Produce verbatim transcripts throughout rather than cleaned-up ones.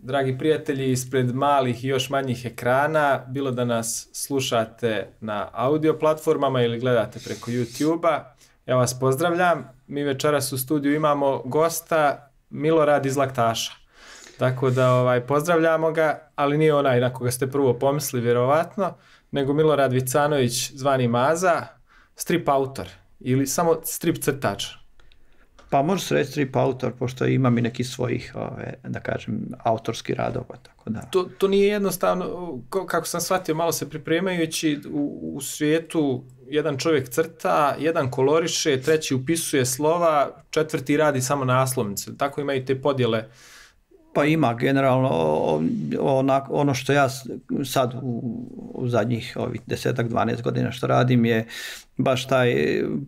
dragi prijatelji, ispred malih i još manjih ekrana, bilo da nas slušate na audio platformama ili gledate preko YouTube-a, ja vas pozdravljam. Mi večeras u studiju imamo gosta Milorad iz Laktaša. Tako da ovaj, pozdravljamo ga, ali nije onaj na koga ste prvo pomislili vjerovatno, nego Milorad Vicanović, zvani Maza, strip autor ili samo strip crtač. Pa može se reći strip autor, pošto imam i neki svojih, ove, da kažem, autorskih radova. Tako da. To, to nije jednostavno, kako sam shvatio, malo se pripremajući, u, u svijetu jedan čovjek crta, jedan koloriše, treći upisuje slova, četvrti radi samo naslovnice. Tako imaju te podjele. Pa ima generalno onako, ono što ja sad u, u zadnjih ovih desetak, dvanaest godina što radim je baš taj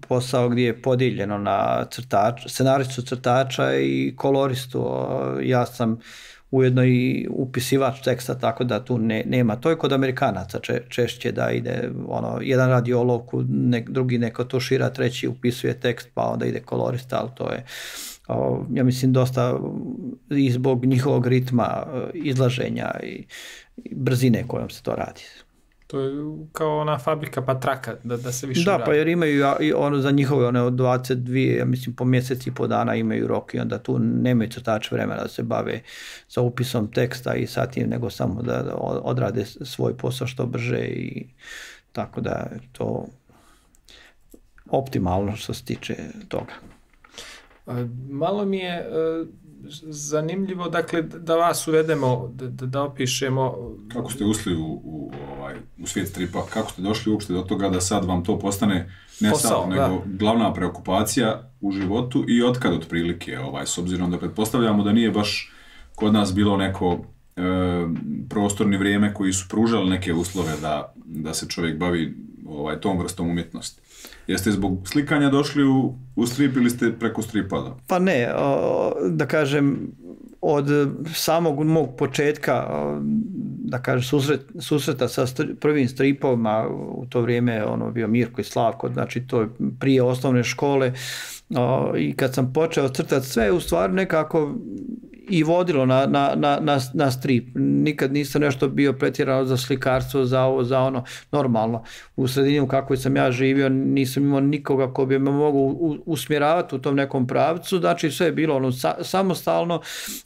posao gdje je podijeljeno na crtač, scenaristu crtača i koloristu. Ja sam ujedno i upisivač teksta, tako da tu ne, nema. To je kod Amerikanaca če, češće da ide, ono, jedan radi olovku, nek, drugi neko tušira, treći upisuje tekst, pa onda ide kolorista, ali to je, o, ja mislim, dosta i zbog njihovog ritma izlaženja i, i brzine kojom se to radi. To je kao ona fabrika patraka, da, da se više da, radi. Pa jer imaju ono za njihove one od dvadeset dvije, ja mislim po mjesec i po dana imaju rok i onda tu nemaju crtač vremena da se bave sa upisom teksta i sa tim, nego samo da odrade svoj posao što brže i tako da je to optimalno što se tiče toga. Malo mi je uh, zanimljivo, dakle, da vas uvedemo, da, da opišemo. Kako ste ušli u, u, ovaj, u svijet stripa, kako ste došli uopšte do toga da sad vam to postane ne posao, sad, nego glavna preokupacija u životu i otkad otprilike, ovaj, s obzirom da pretpostavljamo da nije baš kod nas bilo neko e, prostorni vrijeme koji su pružali neke uslove da, da se čovjek bavi ovaj, tom vrstom umjetnosti. Jeste zbog slikanja došli u, u strip ili ste preko stripa? Da? Pa ne, o, da kažem, od samog mog početka, o, da kažem, susret, susreta sa stri, prvim stripovima, u to vrijeme ono bio Mirko i Slavko, znači to je prije osnovne škole, o, i kad sam počeo crtati sve, u stvari nekako i vodilo na, na, na, na strip. Nikad nisam nešto bio pretjerano za slikarstvo, za ovo, za ono, normalno. U sredini u kakvoj sam ja živio nisam imao nikoga ko bi me mogao usmjeravati u tom nekom pravcu, znači sve je bilo ono sa, samostalno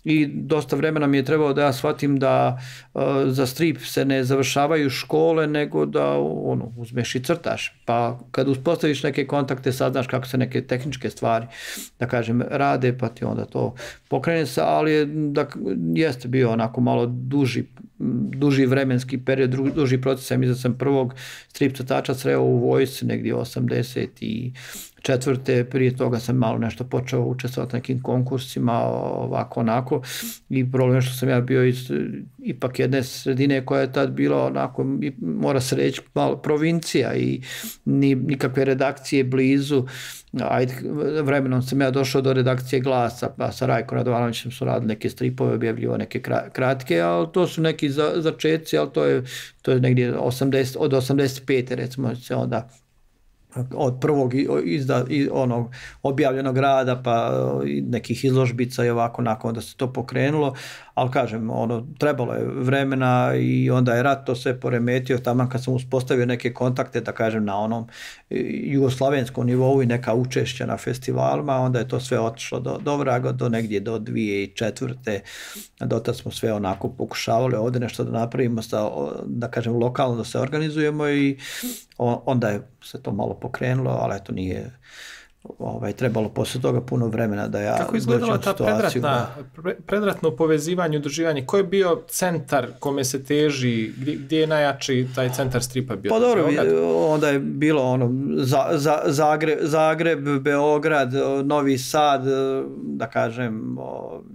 i dosta vremena mi je trebalo da ja shvatim da uh, za strip se ne završavaju škole, nego da ono, uzmeš i crtaš. Pa kad uspostaviš neke kontakte, saznaš kako se neke tehničke stvari, da kažem, rade, pa ti onda to pokrene se, ali da jeste bio onako malo duži, duži vremenski period, duži proces. Ja mislim da sam prvog strip crtača sreo u vojsci negdje osamdeset četvrte. Prije toga sam malo nešto počeo učestvovati nekim konkursima, ovako onako, i problem što sam ja bio iz ipak jedne sredine koja je tad bila onako, mora se reći, malo provincija i ni, nikakve redakcije blizu. Ajde, vremenom sam ja došao do redakcije Glasa, pa sa Rajko Radovanovićem su radili neke stripove, objavljivo neke kratke, ali to su neki za, začetci, ali to je, to je negdje osamdeset, od osamdeset pete recimo se onda od prvog izda, onog objavljenog rada pa nekih izložbica i ovako nakon da se to pokrenulo, ali kažem, ono, trebalo je vremena i onda je rat to sve poremetio, tamo kad sam uspostavio neke kontakte, da kažem, na onom jugoslavenskom nivou i neka učešća na festivalima, onda je to sve otišlo do, do vraga, do negdje do dvije tisuće četvrte. Dotad smo sve onako pokušavali ovdje nešto da napravimo, sa, da kažem, lokalno da se organizujemo i onda je se to malo pokrenulo, ali eto nije ovaj, trebalo poslije toga puno vremena da ja... Kako izgledala ta predratna, pre, predratno povezivanje, udruživanje? Ko je bio centar kome se teži, gdje, gdje je najjači taj centar stripa bio? Pa dobro, onda je bilo ono, za, za, Zagreb, Zagreb, Beograd, Novi Sad, da kažem,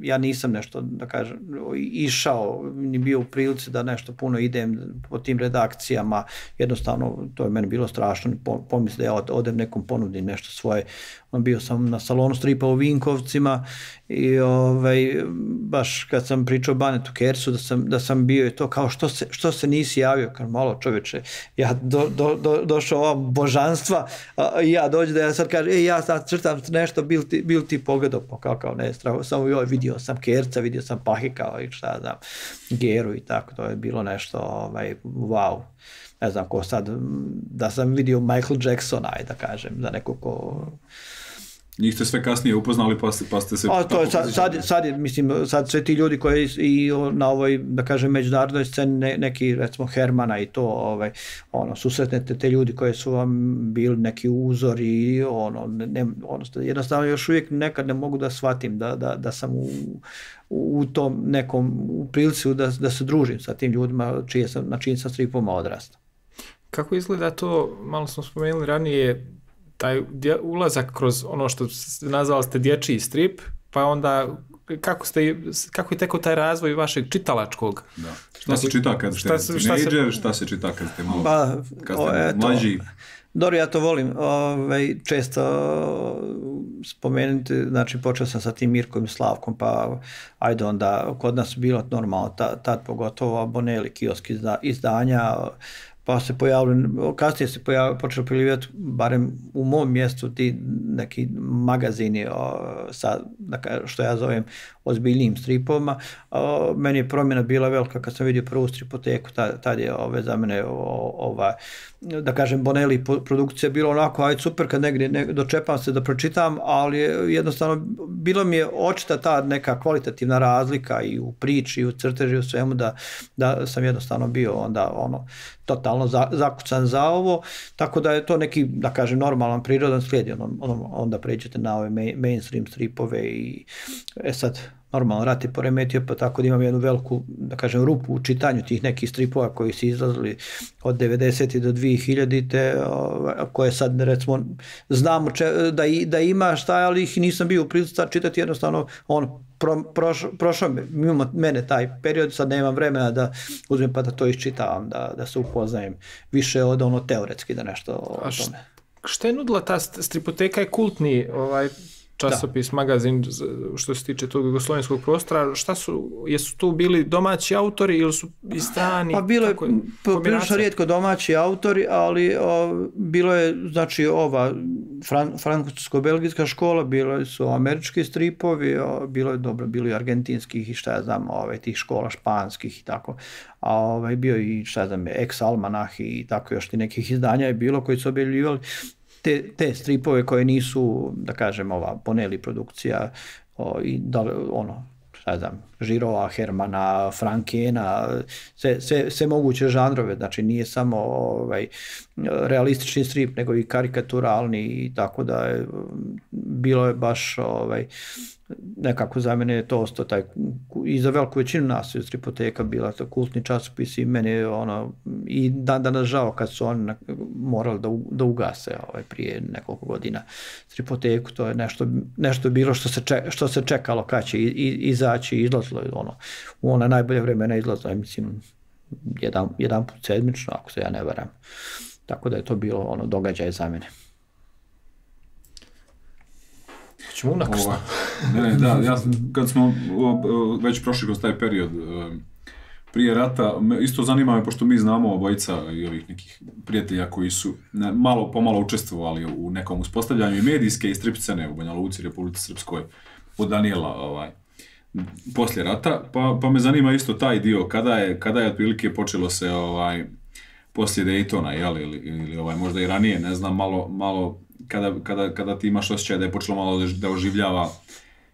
ja nisam nešto, da kažem, išao, ni bio u prilici da nešto puno idem po tim redakcijama, jednostavno to je meni bilo strašno, pomisli da ja odem nekom ponudim nešto svoje on bio sam na salonu stripa u Vinkovcima i ovaj, baš kad sam pričao Banetu Kercu da sam, da sam bio i to kao što se, što se nisi javio, kao malo čoveče, ja do, do, do, došao ova božanstva a, i ja dođu da ja sad kažem, ej ja sad crtam nešto, bil ti, bil ti pogledao, pa kao, kao ne, stravo, samo joj, vidio sam Kerca, vidio sam Pahika i šta znam, Geru i tako, to je bilo nešto, ovaj, wow. Ne znam ko sad, da sam vidio Michael Jacksona, aj da kažem, da neko ko... Njih ste sve kasnije upoznali pa ste, pa ste se... A to je sad, sad, sad, mislim, sad sve ti ljudi koji i na ovoj, da kažem, međunarodnoj sceni, ne, neki, recimo, Hermana i to, ovaj, ono, susretnete te ljudi koji su vam bili neki uzor i ono, ne, ono, jednostavno još uvijek nekad ne mogu da shvatim da, da, da sam u, u tom nekom, u prilici da, da se družim sa tim ljudima čije sam, na čijim sam stripoma odrastao. Kako izgleda to, malo smo spomenuli ranije, taj ulazak kroz ono što nazvali ste dječji strip, pa onda kako, ste, kako je tekao taj razvoj vašeg čitalačkog? Da. Šta se čita kad ste teenager, šta se čita kad ste malo pa, kad ste o, mlađi? Dobro, ja to volim ovaj, često spomenuti, znači počeo sam sa tim Mirkom i Slavkom, pa ajde onda, kod nas bilo normalno, tad, tad pogotovo Bonelli, kioski izdanja, pa se pojavili, kasnije se pojavili, počeli pojavljivati, barem u mom mjestu, ti neki magazini o, sa, dakle, što ja zovem ozbiljnijim stripovima. O, meni je promjena bila velika kad sam vidio prvu stripoteku, tad, tad je ove, za mene o, ova, da kažem, Bonelli produkcija bilo onako, aj super kad negdje ne, dočepam se da pročitam, ali jednostavno bilo mi je očita ta neka kvalitativna razlika i u priči, i u crteži, u svemu, da, da sam jednostavno bio onda ono, totalno za, zakucan za ovo, tako da je to neki, da kažem, normalan, prirodan slijed, on, on, onda pređete na ove main, mainstream stripove i e sad, normalno rat je poremetio, pa tako da imam jednu veliku, da kažem, rupu u čitanju tih nekih stripova koji su izlazili od devedesetih do dvije hiljadite, koje sad, recimo, znamo če, da, i, da ima šta, ali ih nisam bio u prilici čitati, jednostavno, on pro, prošao, prošao mimo mene taj period, sad nemam vremena da uzmem pa da to iščitavam, da, da se upoznajem više od ono teoretski da nešto o tome. Šta je nudila ta stripoteka, je kultni ovaj časopis, da. Magazin što se tiče tog jugoslovenskog prostora, šta su, jesu tu bili domaći autori ili su i strani? Pa bilo je prilično rijetko domaći autori, ali o, bilo je, znači, ova fran, francusko-belgijska škola, bilo su američki stripovi, o, bilo je dobro, bilo i argentinskih i šta ja znam, ove, tih škola španskih i tako, a ovaj, bio i šta ja znam, ex-almanah i tako još ti nekih izdanja je bilo koji su objavljivali Te, te stripove koje nisu, da kažem, ova Bonelli produkcija o, i da, ono, šta znam, Žirova, Hermana, Frankena, sve, sve, sve moguće žanrove, znači nije samo ovaj, realistični strip, nego i karikaturalni i tako da je, bilo je baš ovaj, nekako za mene je to ostao taj, i za veliku većinu nas je stripoteka bila to kultni časopis i meni je ono, i dan danas žao kad su oni morali da, da ugase ovaj, prije nekoliko godina stripoteku, to je nešto, nešto bilo što se, ček, što se čekalo kad će izaći i izlazilo ono, u ona najbolje vremena izlazilo, mislim, jedan, jedan put sedmično, ako se ja ne varam. Tako da je to bilo ono događaj za mene. Ćemo unakrsno. Ne, ne, da, ja, kad smo već prošli kroz taj period prije rata, isto zanima me, pošto mi znamo obojica i ovih nekih prijatelja koji su malo pomalo učestvovali u nekom uspostavljanju i medijske i strip scene u Banja Luci, Republici Srpskoj, od Daniela, ovaj, poslije rata, pa, pa me zanima isto taj dio, kada je, kada je otprilike počelo se, ovaj, poslije Daytona, jel, ili, ili ovaj, možda i ranije, ne znam, malo, malo kada, kada, kada ti imaš osjećaj da je počelo malo da oživljava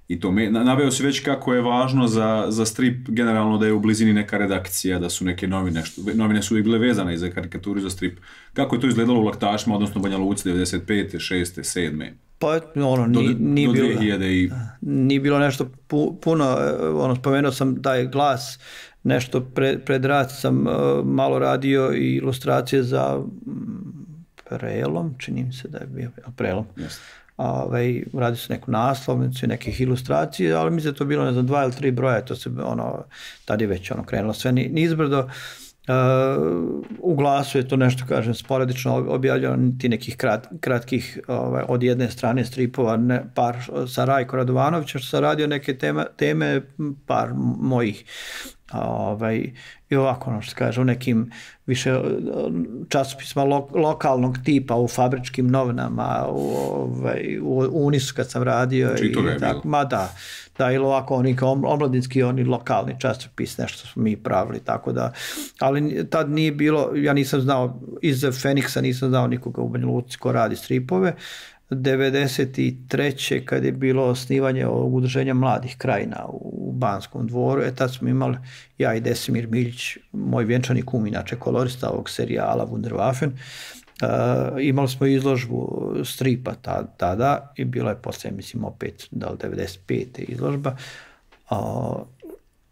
i to. Naveo si već kako je važno za, za strip generalno da je u blizini neka redakcija, da su neke novine, što, novine su uvijek bile vezane i za karikaturu i za strip. Kako je to izgledalo u Laktašima, odnosno Banja Luci devedeset pete, šeste, sedme? Pa ono, nije, nije, do, do bilo, i... nije bilo nešto pu, puno, ono, spomenuo sam taj Glas, nešto pre, pred rat sam uh, malo radio i ilustracije za um, Prelom, čini mi se da je bio Prelom. Yes. Ovaj, radi se neku naslovnicu i nekih ilustracija, ali mi se to bilo, ne znam, dva ili tri broja, to se, ono, tad je već ono, krenulo sve nizbrdo. u Glasu je to nešto, kažem, sporadično objavljeno, ti nekih krat, kratkih ovaj, od jedne strane stripova, ne, par sa Rajko Radovanovića što sam radio neke tema, teme, par mojih. Ovaj, i ovako, ono što se kaže, u nekim više časopisma lo, lokalnog tipa, u fabričkim novinama, u, ovaj, u Unisu kad sam radio. Čito ga je tako, bilo. Ma da, da, ili ovako oni kao omladinski, oni lokalni časopis, nešto smo mi pravili, tako da, ali tad nije bilo, ja nisam znao, iz Feniksa nisam znao nikoga u Banja Luci ko radi stripove. devedeset treće kad je bilo osnivanje ovog udruženja mladih krajina u Banskom dvoru, e tad smo imali ja i Desimir Miljić, moj vjenčani kum, inače kolorista ovog serijala Wunderwaffen, uh, imali smo izložbu stripa tada i bilo je poslije, mislim, opet da li devedeset pete izložba, uh,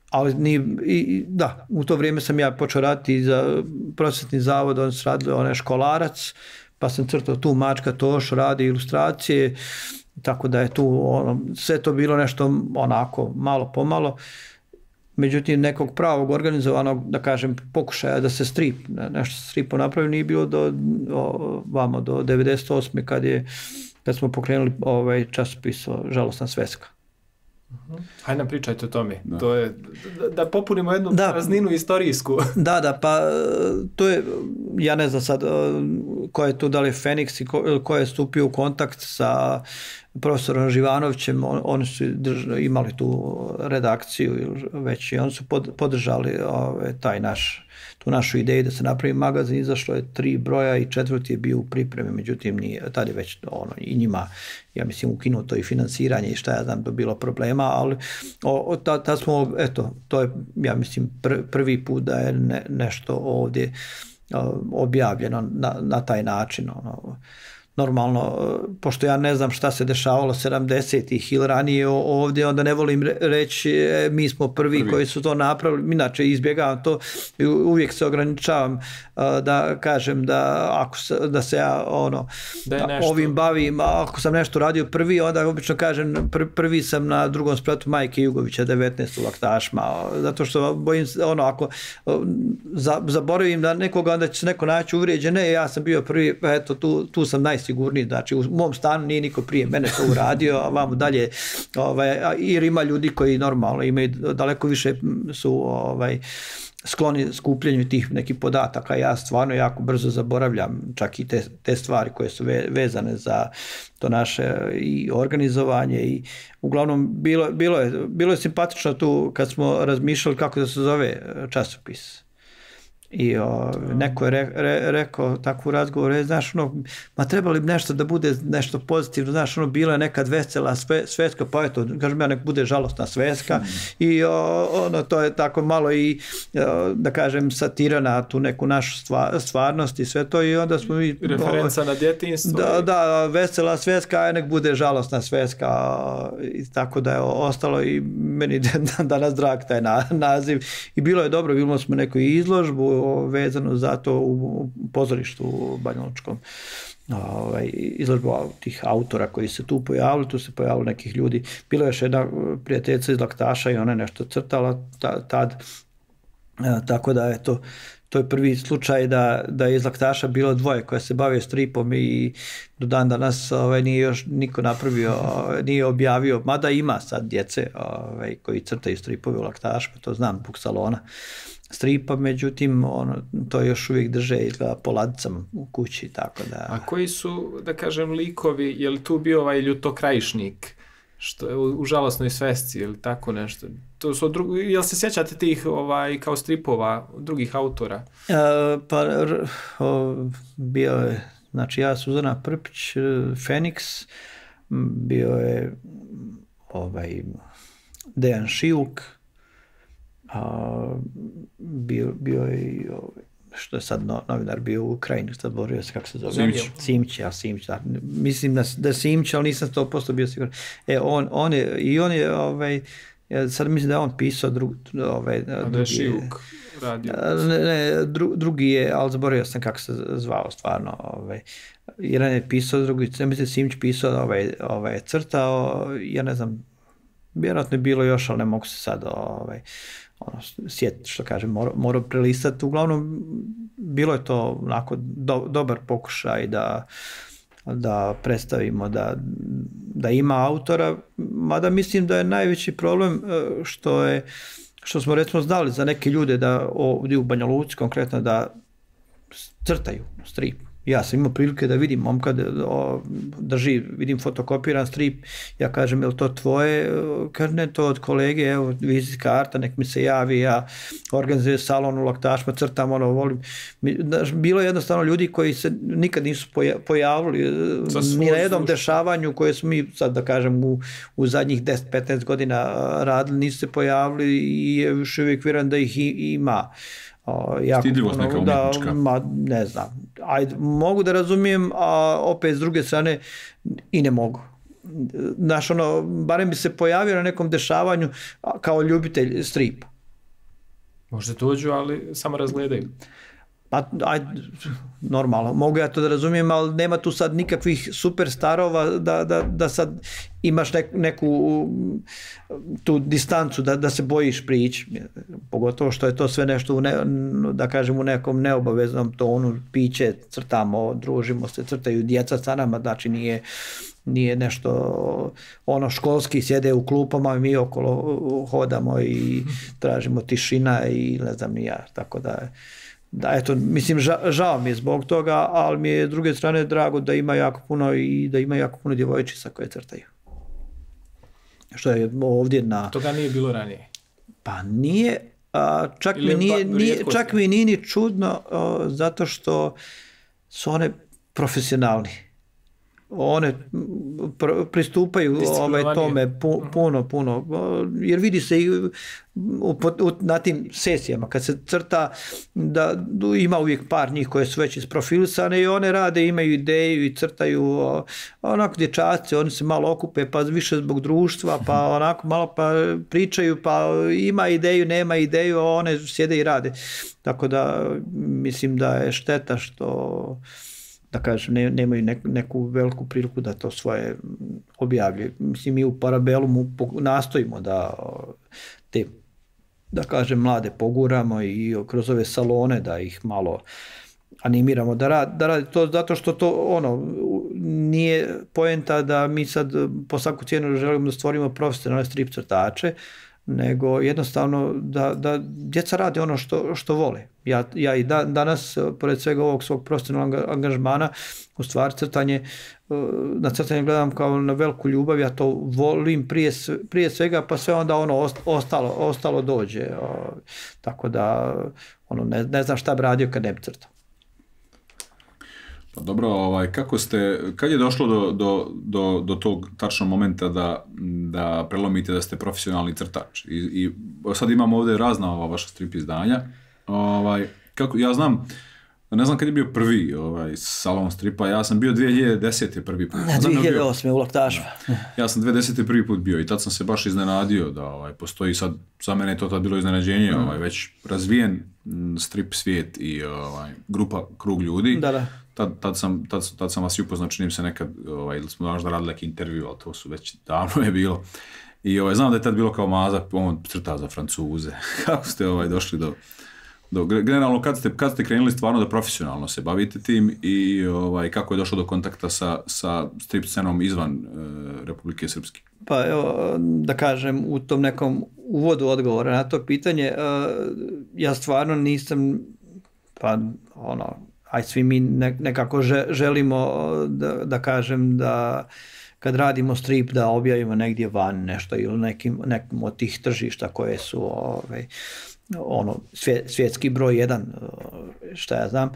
ali ni, i, da, u to vrijeme sam ja počeo raditi za prosvetni zavod, on se radili onaj školarac, pa sam crtao tu Mačka Toš, radi ilustracije, tako da je tu ono, sve to bilo nešto onako malo pomalo. Međutim, nekog pravog organizovanog, da kažem, pokušaja da se strip, nešto stripo napravi, nije bilo do, o, vamo, do devedeset osme kad, je, kad smo pokrenuli ovaj časopis Žalosna sveska. Hajde nam pričajte o tome. Da. To je, da, da popunimo jednu da, prazninu istorijsku. Da, da, pa to je, ja ne znam sad ko je tu, da li je Feniks i ko, ko je stupio u kontakt sa profesorom Živanovićem, on, oni su drž, imali tu redakciju već i oni su pod, podržali ove, taj naš, tu našu ideju da se napravi magazin, izašlo je tri broja i četvrti je bio u pripremi, međutim nije, tad je već ono, i njima, ja mislim, ukinuto i financiranje i šta ja znam, to bilo problema, ali o, tad, tad smo, eto, to je, ja mislim, pr, prvi put da je ne, nešto ovdje o, objavljeno na, na taj način, ono, normalno, pošto ja ne znam šta se dešavalo sedamdesetih ili ranije ovdje, onda ne volim reći e, mi smo prvi, prvi koji su to napravili, inače izbjegavam to i uvijek se ograničavam uh, da kažem da ako se, da se ja ono, da ovim bavim, ako sam nešto radio prvi, onda obično kažem pr prvi sam na drugom spratu Majke Jugovića devetnaest u Laktašma, zato što bojim se, ono, ako za, zaboravim da nekoga, onda će se neko naći uvrijeđen, ne, ja sam bio prvi, eto, tu, tu sam naj sigurniji, znači u mom stanu nije niko prije mene to uradio, a vamo dalje, ovaj, jer ima ljudi koji normalno imaju daleko više su ovaj, skloni skupljenju tih nekih podataka, ja stvarno jako brzo zaboravljam čak i te, te stvari koje su ve, vezane za to naše i organizovanje i uglavnom bilo, bilo, je, bilo je simpatično tu kad smo razmišljali kako da se zove časopis. I o, neko je re, re, rekao takvu razgovor, znaš, ono, ma trebali bi nešto da bude nešto pozitivno, znaš, ono, bila je nekad vesela sve, sveska, pa eto, kažem ja, nek bude žalostna sveska mm. i o, ono, to je tako malo i, o, da kažem, satira na tu neku našu stva, stvarnost i sve to i onda smo mi... Referenca o, na djetinjstvo. Da, da, vesela sveska, a nek bude žalostna sveska i tako da je ostalo i meni danas drag taj na, naziv i bilo je dobro, bilo smo neku izložbu vezano za to u pozorištu u Banjalučkom, ovaj, izložbu tih autora koji se tu pojavili, tu se pojavili nekih ljudi, bilo je još jedna prijateljica iz Laktaša i ona je nešto crtala tad, tako da je to to je prvi slučaj da, da je iz Laktaša bilo dvoje koje se bave stripom i do dan danas ovaj, nije još niko napravio, nije objavio, mada ima sad djece ovaj, koji crtaju stripove u Laktašu, to znam, zbog salona stripa, međutim, ono, to još uvijek drže izgleda po ladicama u kući, tako da... A koji su, da kažem, likovi, je li tu bio ovaj Ljutokrajišnik, što je u, u žalosnoj svesci ili tako nešto? To su drugi, jel se sjećate tih ovaj, kao stripova drugih autora? E, pa, r, o, bio je, znači ja, Suzana Prpić, Feniks, bio je ovaj, Dejan Šijuk, a, bio, bio je i ovaj, što je sad no, novinar bio u Ukrajini, sad borio se kako se zove. Simić. Simić, ja Simić, da. Mislim da, da Simić, ali nisam sto posto bio siguran. E, on, on je, i on je, ovaj, ja sad mislim da je on pisao drug, ovaj, a da je Šivuk radio. Ne, ne, dru, drugi je, ali zaboravio sam kako se zvao stvarno, ovaj, jedan je pisao, drugi, ja mislim Simić pisao, ovaj, ovaj, crtao, ja ne znam, vjerojatno je bilo još, ali ne mogu se sad, ovaj, ono, sjet, što kažem, morao mora prelistati. Uglavnom, bilo je to onako do, dobar pokušaj da, da predstavimo da, da ima autora, mada mislim da je najveći problem što je što smo recimo znali za neke ljude da ovdje u Banja Luci konkretno da crtaju strip. Ja sam imao prilike da vidim momka drži, vidim fotokopiran strip, ja kažem, je li to tvoje? Kaže, ne, to od kolege, evo, vizit karta, nek mi se javi, ja organizujem salon u Laktašima, crtam, ono, volim. Bilo je jednostavno ljudi koji se nikad nisu pojavili ni na jednom dešavanju koje smo mi, sad da kažem, u, u zadnjih deset do petnaest godina radili, nisu se pojavili i je još uvijek vjerujem da ih ima. O, jako Stidljivost neka umjetnička. Da, ma, ne znam. Ajde, mogu da razumijem, a opet s druge strane i ne mogu. Znaš, ono, barem bi se pojavio na nekom dešavanju kao ljubitelj stripa. Možda dođu, ali samo razgledaju. Pa, ajde, normalno, mogu ja to da razumijem, ali nema tu sad nikakvih superstarova da, da, da sad imaš nek, neku tu distancu da, da se bojiš prići. Pogotovo što je to sve nešto, u ne, da kažem, u nekom neobaveznom tonu, piće, crtamo, družimo se, crtaju djeca sa nama, znači nije, nije nešto ono školski, sjede u klupama i mi okolo hodamo i tražimo tišina i ne znam ni ja, tako da je. Da, eto, mislim, ža, žao mi je zbog toga, ali mi je s druge strane drago da ima jako puno i da ima jako puno djevojčica koje crtaju. Što je ovdje na... Toga nije bilo ranije? Pa nije, a, čak, mi nije, nije, čak mi nije ni čudno a, zato što su one profesionalni. One pr- pristupaju ovaj, tome pu, puno, puno, jer vidi se i u, u, na tim sesijama kad se crta da ima uvijek par njih koje su već isprofilisane i one rade, imaju ideju i crtaju onako dječaci, oni se malo okupe pa više zbog društva, pa onako malo pa pričaju, pa ima ideju, nema ideju, a one sjede i rade. Tako da mislim da je šteta što da kažem, ne, nemaju neku, neku veliku priliku da to svoje objavljaju. Mislim, mi u Parabelumu nastojimo da te, da kažem, mlade poguramo i kroz ove salone da ih malo animiramo da radi, da radi to zato što to ono nije poenta da mi sad po svaku cijenu želimo da stvorimo profesionalne strip crtače, nego jednostavno da, da djeca rade ono što, što vole. Ja, ja i da, danas, pored svega ovog svog profesionalnog angažmana, u stvari crtanje, na crtanje gledam kao na veliku ljubav, ja to volim prije, prije svega, pa sve onda ono ostalo, ostalo dođe. Tako da ono, ne, ne znam šta bi radio kad ne bi crtao. Pa dobro, ovaj, kako ste, kad je došlo do, do, do, do tog tačnog momenta da, da prelomite da ste profesionalni crtač? I, i sad imamo ovdje razna ova vaša strip izdanja. Ovaj, kako, ja znam, ne znam kad je bio prvi ovaj, salon stripa, ja sam bio dvije hiljade desete prvi put. Na dvije hiljade osme u Laktašima. Ja sam dvije hiljade desete prvi put bio i tad sam se baš iznenadio da ovaj, postoji sad, za mene je to tad bilo iznenađenje, mm. ovaj, već razvijen strip svijet i ovaj, grupa, krug ljudi. Da, da. Tad, tad, sam, tad, tad sam vas i upoznao, činim se nekad, ovaj, ili smo možda radili neki intervju, ali to su već davno je bilo. I ovaj, znam da je tad bilo kao Maza, on crta za Francuze. Kako ste ovaj, došli do... do generalno, kad ste, kad ste krenuli stvarno da profesionalno se bavite tim i ovaj, kako je došlo do kontakta sa, sa strip scenom izvan e, Republike Srpske? Pa evo, da kažem, u tom nekom uvodu odgovora na to pitanje, e, ja stvarno nisam, pa ono, aj svi mi nekako želimo da, da kažem da kad radimo strip da objavimo negdje van nešto ili nekim, nekim od tih tržišta koje su ovaj, ono, svjet, svjetski broj jedan, šta ja znam.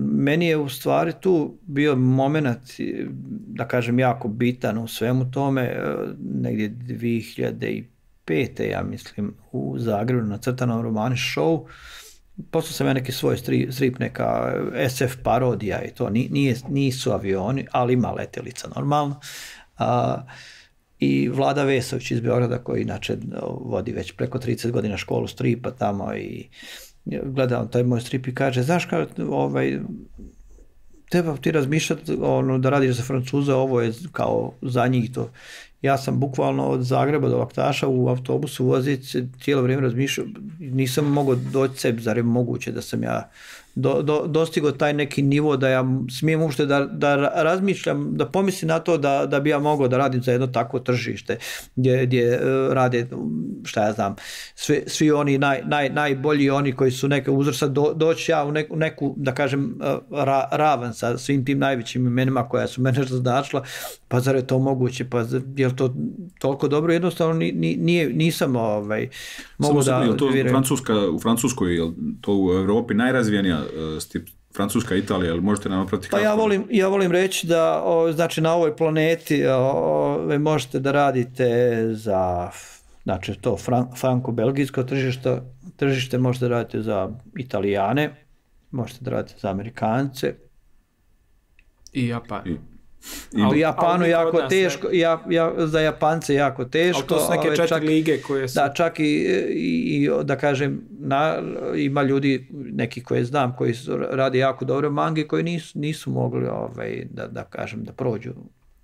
Meni je u stvari tu bio moment, da kažem, jako bitan u svemu tome, negdje dvije hiljade pete ja mislim u Zagrebu na crtanom romani show. Poslao sam ja neki svoj strip, strip, neka es ef parodija i to, nije, nisu avioni, ali ima letjelica normalno. A, i Vlada Vesović iz Beograda koji inače vodi već preko trideset godina školu stripa tamo i gledam taj moj strip i kaže, znaš kao, ovaj, treba ti razmišljati ono, da radiš za Francuza, ovo je kao za njih to. ja sam bukvalno od Zagreba do Laktaša u autobusu voziti cijelo vrijeme razmišljao, nisam mogao doći sebi, zar je moguće da sam ja do, do, dostigao taj neki nivo da ja smijem uopšte da, da razmišljam, da pomislim na to da, da bi ja mogao da radim za jedno takvo tržište gdje, gdje rade, šta ja znam, svi, svi oni naj, naj, najbolji, oni koji su neke uzrsta, do, doći ja u neku, u neku da kažem, ra, ravan sa svim tim najvećim imenima koja su mene značila, pa zar je to moguće, pa je li to toliko dobro, jednostavno nije, nisam ovaj, mogu da... Je to Francuska, u Francuskoj, je to u Europi najrazvijenija stip, Francuska, Italija, ali možete nam napraviti kako? Pa ja volim, ja volim reći da o, znači na ovoj planeti o, možete da radite za znači to fran, franko-belgijsko tržište, tržište možete da radite za Italijane, možete da radite za Amerikance. I Japan. I... U Japanu ali jako teško, ja, ja, za Japance jako teško. Ali to su neke četiri čak, lige koje su... Da, čak i, i da kažem, na, ima ljudi, neki koje znam, koji su, radi jako dobro mangi, koji nisu, nisu mogli, ovaj, da, da kažem, da prođu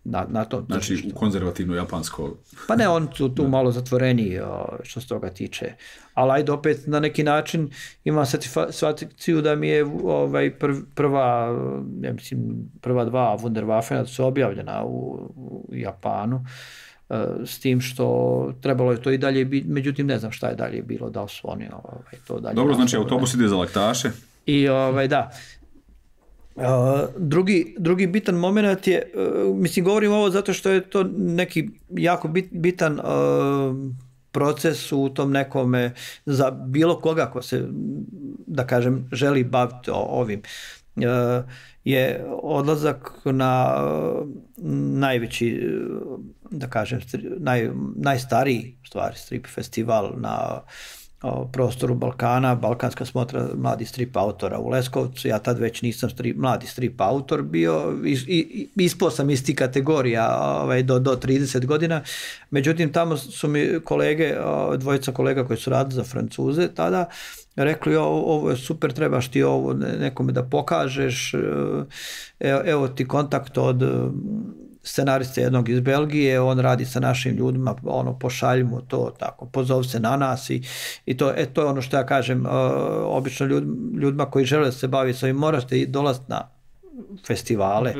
na, na tom znači, tržištu. Znači, u konzervativno japansko... Pa ne, on tu, tu malo zatvoreniji što se toga tiče. Ali ajde opet na neki način imam satisfakciju da mi je ovaj, prv, prva, ja mislim, prva dva Wunderwaffena su objavljena u, u Japanu. S tim što trebalo je to i dalje biti, međutim ne znam šta je dalje bilo, da li su oni ovaj, to dalje... Dobro, znači autobus ide za Laktaše. I ovaj, da... Uh, drugi, drugi bitan moment je, uh, mislim govorim ovo zato što je to neki jako bit, bitan uh, proces u tom nekome za bilo koga ko se, da kažem, želi baviti ovim. Uh, je odlazak na uh, najveći, uh, da kažem, naj, najstariji stvari strip festival na o prostoru Balkana, Balkanska smotra mladih strip autora u Leskovcu. Ja tad već nisam strip, mladi strip autor bio, is, i, ispao sam iz tih kategorija ovaj, do, do trideset godina. Međutim, tamo su mi kolege, dvojica kolega koji su radili za Francuze tada, rekli, ovo je super, trebaš ti ovo nekome da pokažeš, evo, evo ti kontakt od scenariste jednog iz Belgije, on radi sa našim ljudima, ono, pošalji mu to, tako, pozov se na nas i, i to, e, to je ono što ja kažem, uh, obično ljud, ljudima koji žele da se bavi s ovim, morate dolaziti na festivale,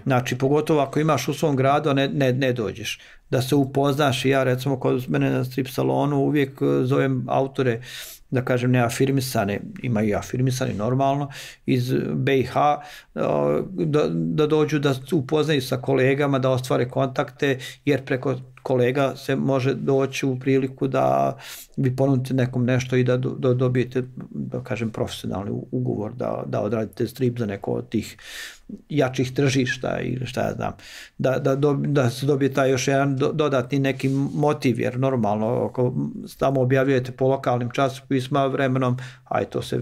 znači pogotovo ako imaš u svom gradu, a ne, ne, ne dođeš, da se upoznaš. I ja recimo kod mene na strip salonu uvijek zovem autore, da kažem, ne afirmisane, ima i afirmisani normalno, iz B i H, da, da dođu da upoznaju sa kolegama, da ostvare kontakte, jer preko kolega se može doći u priliku da vi ponudite nekom nešto i da do, dobijete, da kažem, profesionalni ugovor, da, da odradite strip za neko od tih jačih tržišta ili šta ja znam, da, da, do, da se dobije taj još jedan do, dodatni neki motiv, jer normalno ako tamo objavljujete po lokalnim časopisma vremenom, aj to se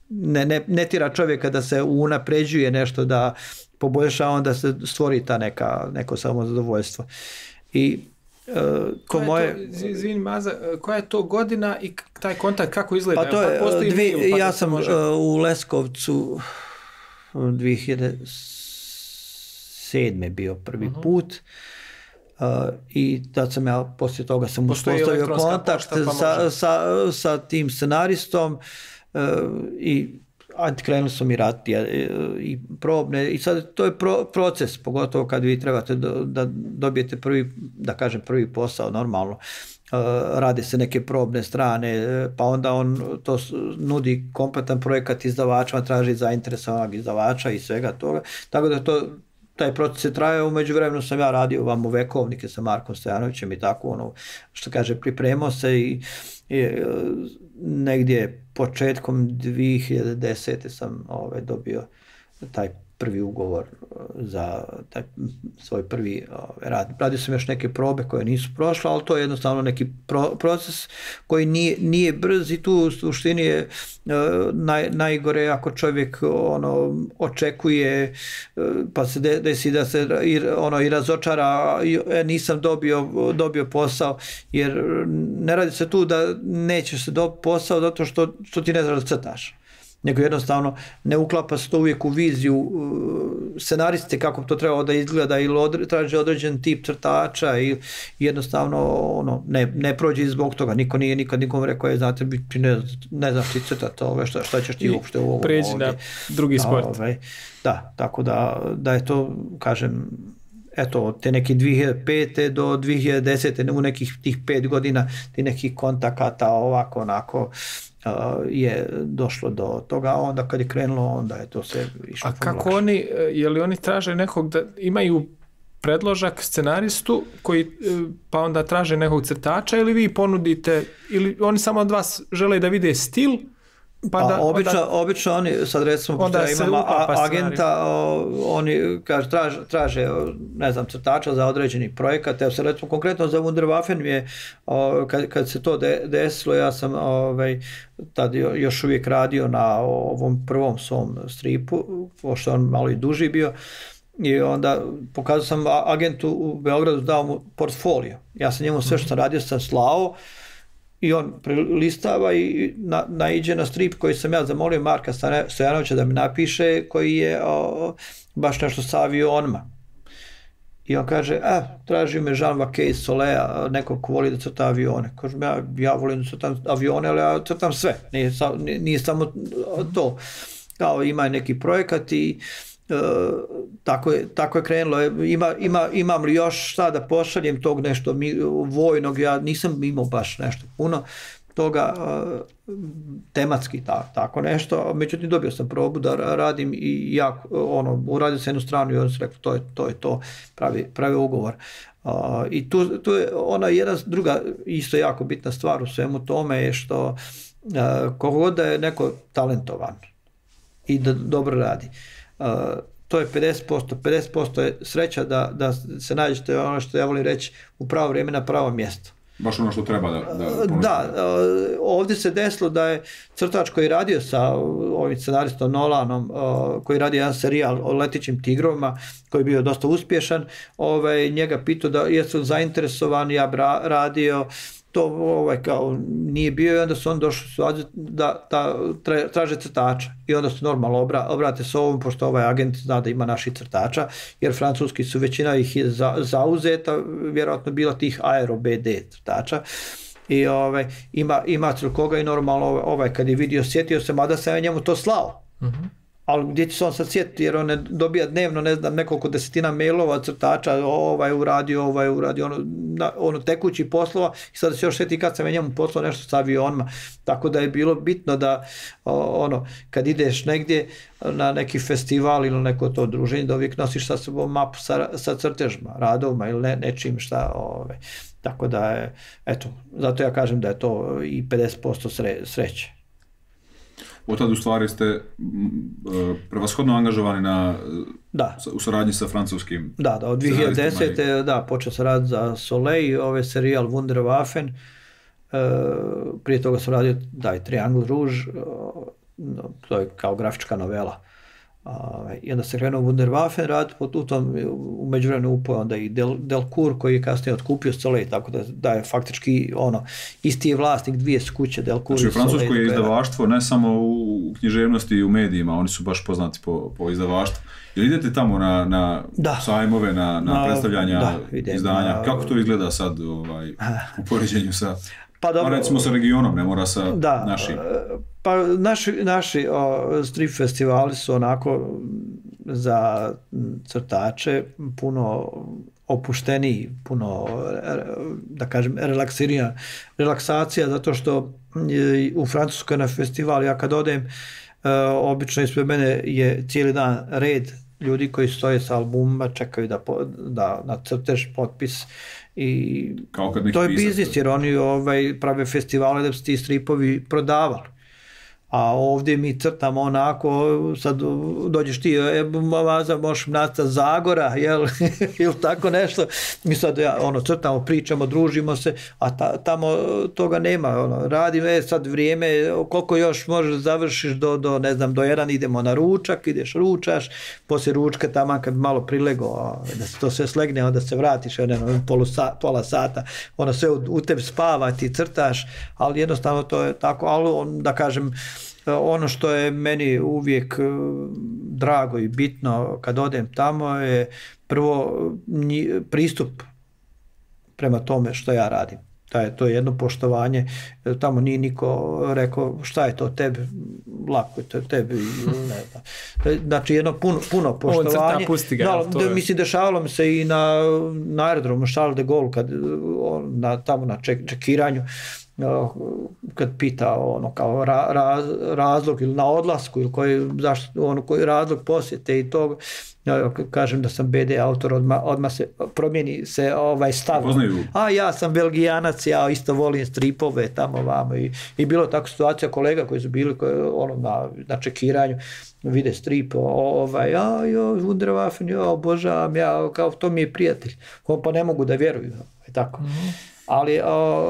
ne, ne, ne tira čovjeka da se unapređuje nešto, da poboljša, onda se stvori ta neka, neko samozadovoljstvo. I uh, ko moje... Izvini Maza, koja je to godina i taj kontakt kako izgleda? Pa to je, pa dvi, mail, pa ja sam može... uh, u Leskovcu dvije hiljade sedme bio prvi uh-huh. put uh, i tad sam ja, poslije toga sam uspostavio kontakt pošta, pa sa, sa, sa tim scenaristom uh, i krenuli su mi raditi i probne i sad to je pro, proces, pogotovo kad vi trebate do, da dobijete prvi, da kažem, prvi posao normalno. Uh, rade se neke probne strane, pa onda on to nudi kompletan projekat izdavačima, traži zainteresovanog izdavača i svega toga, tako da to taj proces je trajao. Umeđu vremenu sam ja radio vam u Vekovnike sa Markom Stojanovićem i tako, ono, što kaže, pripremao se i, i negdje početkom dvije hiljade desete sam ovaj, dobio taj prvi ugovor za taj svoj prvi ovaj, rad. Radio sam još neke probe koje nisu prošle, ali to je jednostavno neki pro, proces koji nije, nije brz i tu u suštini je uh, naj, najgore ako čovjek ono, očekuje uh, pa se desi da se i, ono, i razočara, e, nisam dobio, dobio posao, jer ne radi se tu da nećeš se dobiti posao zato što, što ti ne znaš da crtaš. nego jednostavno ne uklapa se to uvijek u viziju uh, scenariste kako to treba da izgleda ili odre, traži određen tip crtača i jednostavno ono, ne, ne prođe zbog toga, niko nije nikad nikom rekao je znate ti ne, ne znaš ti crtati ove, šta, šta ćeš ti uopšte u ovom pređi ovdje. na drugi sport. Ove, da, tako da, da je to kažem eto, od te neke dvije hiljade pete do dvije hiljade desete u nekih tih pet godina ti nekih kontakata ovako onako uh, je došlo do toga, a onda kad je krenulo onda je to sve išlo. A kako lakše. Oni, je li oni traže nekog da imaju predložak scenaristu koji pa onda traže nekog crtača ili vi ponudite ili oni samo od vas žele da vide stil? Pa da, obično, onda, obično oni, sad recimo, pošto ja imam a, agenta, o, oni kaže, traže, traže, ne znam, crtača za određeni projekat, evo se recimo konkretno za Wunderwaffen mi je, o, kad, kad se to de, desilo, ja sam ovaj, tad još uvijek radio na ovom prvom svom stripu, pošto on malo i duži bio, i onda pokazao sam agentu u Beogradu, dao mu portfolio. Ja sam njemu sve što sam radio sam slao, i on listava i na, naiđe na strip koji sam ja zamolio Marka Stojanovića da mi napiše, koji je o, baš nešto sa avionima. I on kaže, a, traži me Jean-Vaquet iz Solea, nekog ko voli da crta avione. Kažem, ja, ja volim da crtam avione, ali ja crtam sve, nije, nije, nije samo to. Kao ima neki projekat i Uh, tako, je, tako je krenulo. Ima, ima, imam li još šta da pošaljem tog nešto mi, vojnog, ja nisam imao baš nešto puno toga uh, tematski ta, tako nešto, međutim dobio sam probu da radim i ja ono, uradio sam jednu stranu i on se rekao to je to, je to pravi, pravi ugovor. Uh, I tu, tu je ona jedna druga isto jako bitna stvar u svemu tome je što uh, kogod da je neko talentovan i da dobro radi, Uh, to je pedeset posto, pedeset posto je sreća da, da se nađete ono što ja volim reći u pravo vrijeme na pravo mjesto. Baš ono što treba da... Da, da uh, ovdje se desilo da je crtač koji radio sa ovim scenaristom Nolanom, uh, koji radi jedan serijal o letićim tigrovima, koji je bio dosta uspješan, ovaj, njega pitao da jesu zainteresovani, ja bra, radio, to ovaj, kao nije bio i onda su on došli da, da traže crtača i onda su normalno obra, obrate se ovom pošto ovaj agent zna da ima naših crtača jer francuski su većina ih je za, zauzeta, vjerojatno bila tih Aero B D crtača i ovaj, ima, ima koga i normalno ovaj, kad je vidio sjetio se mada sam ja njemu to slao. Mm-hmm. Ali gdje će se on sad sjetiti jer on ne dobija dnevno ne znam nekoliko desetina mailova crtača, ovaj uradio, ovaj uradio, ono, na, ono tekući poslova i sad se još sjeti kad sam ja njemu poslao nešto sa avionima, tako da je bilo bitno da ono, kad ideš negdje na neki festival ili neko to druženje da uvijek nosiš sa sobom mapu sa, sa crtežima, radovima ili ne, nečim šta, ovaj. Tako da je, eto, zato ja kažem da je to i pedeset posto sre, sreće. Od tada u stvari ste uh, prevashodno angažovani na, da. u saradnji sa francuskim. Da, da od dvije hiljade desete. I... da, počeo sam raditi za Soleil, ovaj serijal Wunderwaffen, uh, prije toga sam radio daj, Triangle Rouge, uh, no, to je kao grafička novela. Uh, I onda se krenuo Wunderwaffen raditi, u tom u međuvremenu upao onda i Del, Delcourt koji je kasnije otkupio Soleil, tako da, da je faktički ono, isti je vlasnik dvije su kuće Delcourt znači, i Soleil. Francusko je izdavaštvo ne samo u književnosti i u medijima, oni su baš poznati po, po izdavaštvu. Jel idete tamo na, na sajmove, na, na, na predstavljanja da, idem, izdanja? Na, kako to izgleda sad ovaj, u poređenju sa... Pa dobro, a recimo sa regionom, ne mora sa da, našim. Pa naši, naši o, strip festivali su onako za crtače puno opušteniji, puno, da kažem, relaksirija, relaksacija, zato što u Francuskoj na festival, ja kad odem, obično ispred mene je cijeli dan red ljudi koji stoje sa albumima, čekaju da, da nacrteš potpis. I to je biznis jer oni ovaj, prave festivale da bi se ti stripovi prodavali. A ovdje mi crtamo onako, sad dođeš ti, e, maza, možeš nacrtati Zagora, jel, ili tako nešto. Mi sad ja, ono, crtamo, pričamo, družimo se, a ta, tamo toga nema. Ono, radim, e, sad vrijeme, koliko još možeš završiš do, do, ne znam, do jedan, idemo na ručak, ideš ručaš, poslije ručka tamo kad malo prilego, da se to sve slegne, onda se vratiš, ono, polu sa, pola sata, ono sve u, u tebi spava, ti crtaš, ali jednostavno to je tako, ali on, da kažem, ono što je meni uvijek drago i bitno kad odem tamo je prvo pristup prema tome što ja radim. To je jedno poštovanje, tamo nije niko rekao šta je to tebi, lako je to tebi, ne znam. Znači jedno puno, puno poštovanje. Ga, no, je... Mislim, dešavalo mi se i na, na aerodromu Charles de Gaulle, kad, na, tamo na ček, čekiranju, kad pita ono kao ra, raz, razlog ili na odlasku ili koji, zašto, ono, koji razlog posjete i tog. Ja kažem da sam B D autor, odmah, odmah se promijeni se ovaj stav. A ja sam Belgijanac, ja isto volim stripove tamo vamo i, i bilo tako situacija kolega koji su bili koji, ono, na, na čekiranju vide strip, ovaj, a jo, Wunderwaffen, jo, obožavam, ja, kao to mi je prijatelj, pa ne mogu da vjeruju, tako. Mm-hmm. Ali, o,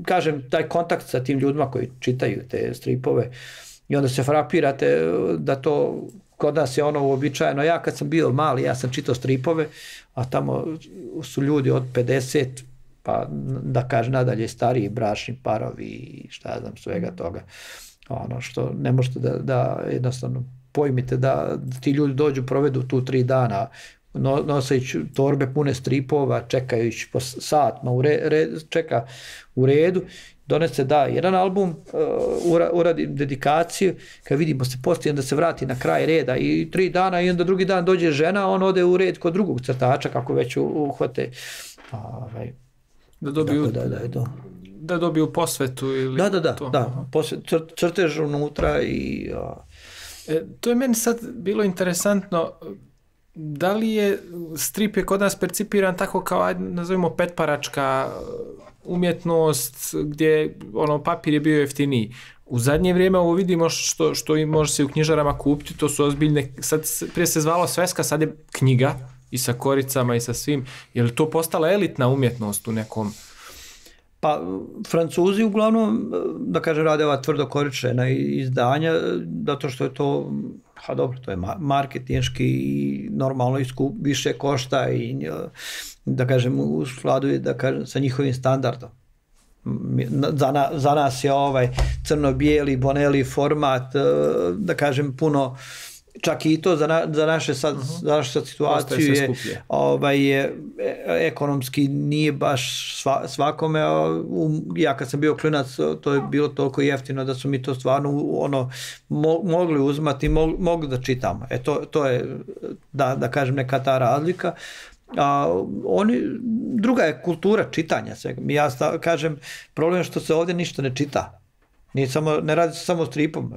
kažem, taj kontakt sa tim ljudima koji čitaju te stripove i onda se frapirate da to kod nas je ono uobičajeno. Ja kad sam bio mali, ja sam čitao stripove, a tamo su ljudi od pedeset, pa da kažem nadalje stariji bračni parovi i šta znam svega toga. Ono što ne možete da, da jednostavno pojmite da ti ljudi dođu, provedu tu tri dana nosajući torbe pune stripova, čekajući po satima, u re, re, čeka u redu, donese da jedan album, uh, uradi dedikaciju, kad vidimo se poslije, onda se vrati na kraj reda i tri dana i onda drugi dan dođe žena, on ode u red kod drugog crtača kako već uhvate. Ovaj, da dobiju, da, da, da, da dobiju posvetu ili da, da, da, to. Da, posvet, cr, crtež unutra i... Uh, e, to je meni sad bilo interesantno. Da li je strip je kod nas percipiran tako kao, ajde, nazovimo petparačka umjetnost gdje ono papir je bio jeftiniji. U zadnje vrijeme ovo vidimo što, što i može se u knjižarama kupiti, to su ozbiljne, sad prije se zvalo sveska, sad je knjiga i sa koricama i sa svim. Je li to postala elitna umjetnost u nekom? Pa Francuzi uglavnom, da kažem, rade ova tvrdokoričena izdanja, zato što je to, ha dobro, to je marketinški i normalno iskup, više košta i da kažem u skladu je, da kažem, sa njihovim standardom. Za, na, za nas je ovaj crno-bijeli, boneli format, da kažem, puno, čak i to za, na, za naše sad, uh-huh. za našu sad situaciju je, ovaj, je ekonomski nije baš sva, svakome. Um, ja kad sam bio klinac, to je bilo toliko jeftino da su mi to stvarno ono, mo, mogli uzmati, mo, mogli da čitamo. E to, to je, da, da kažem, neka ta razlika. A, oni, druga je kultura čitanja svega. Ja sta, kažem, problem je što se ovdje ništa ne čita. Nije samo, ne radi se samo stripom.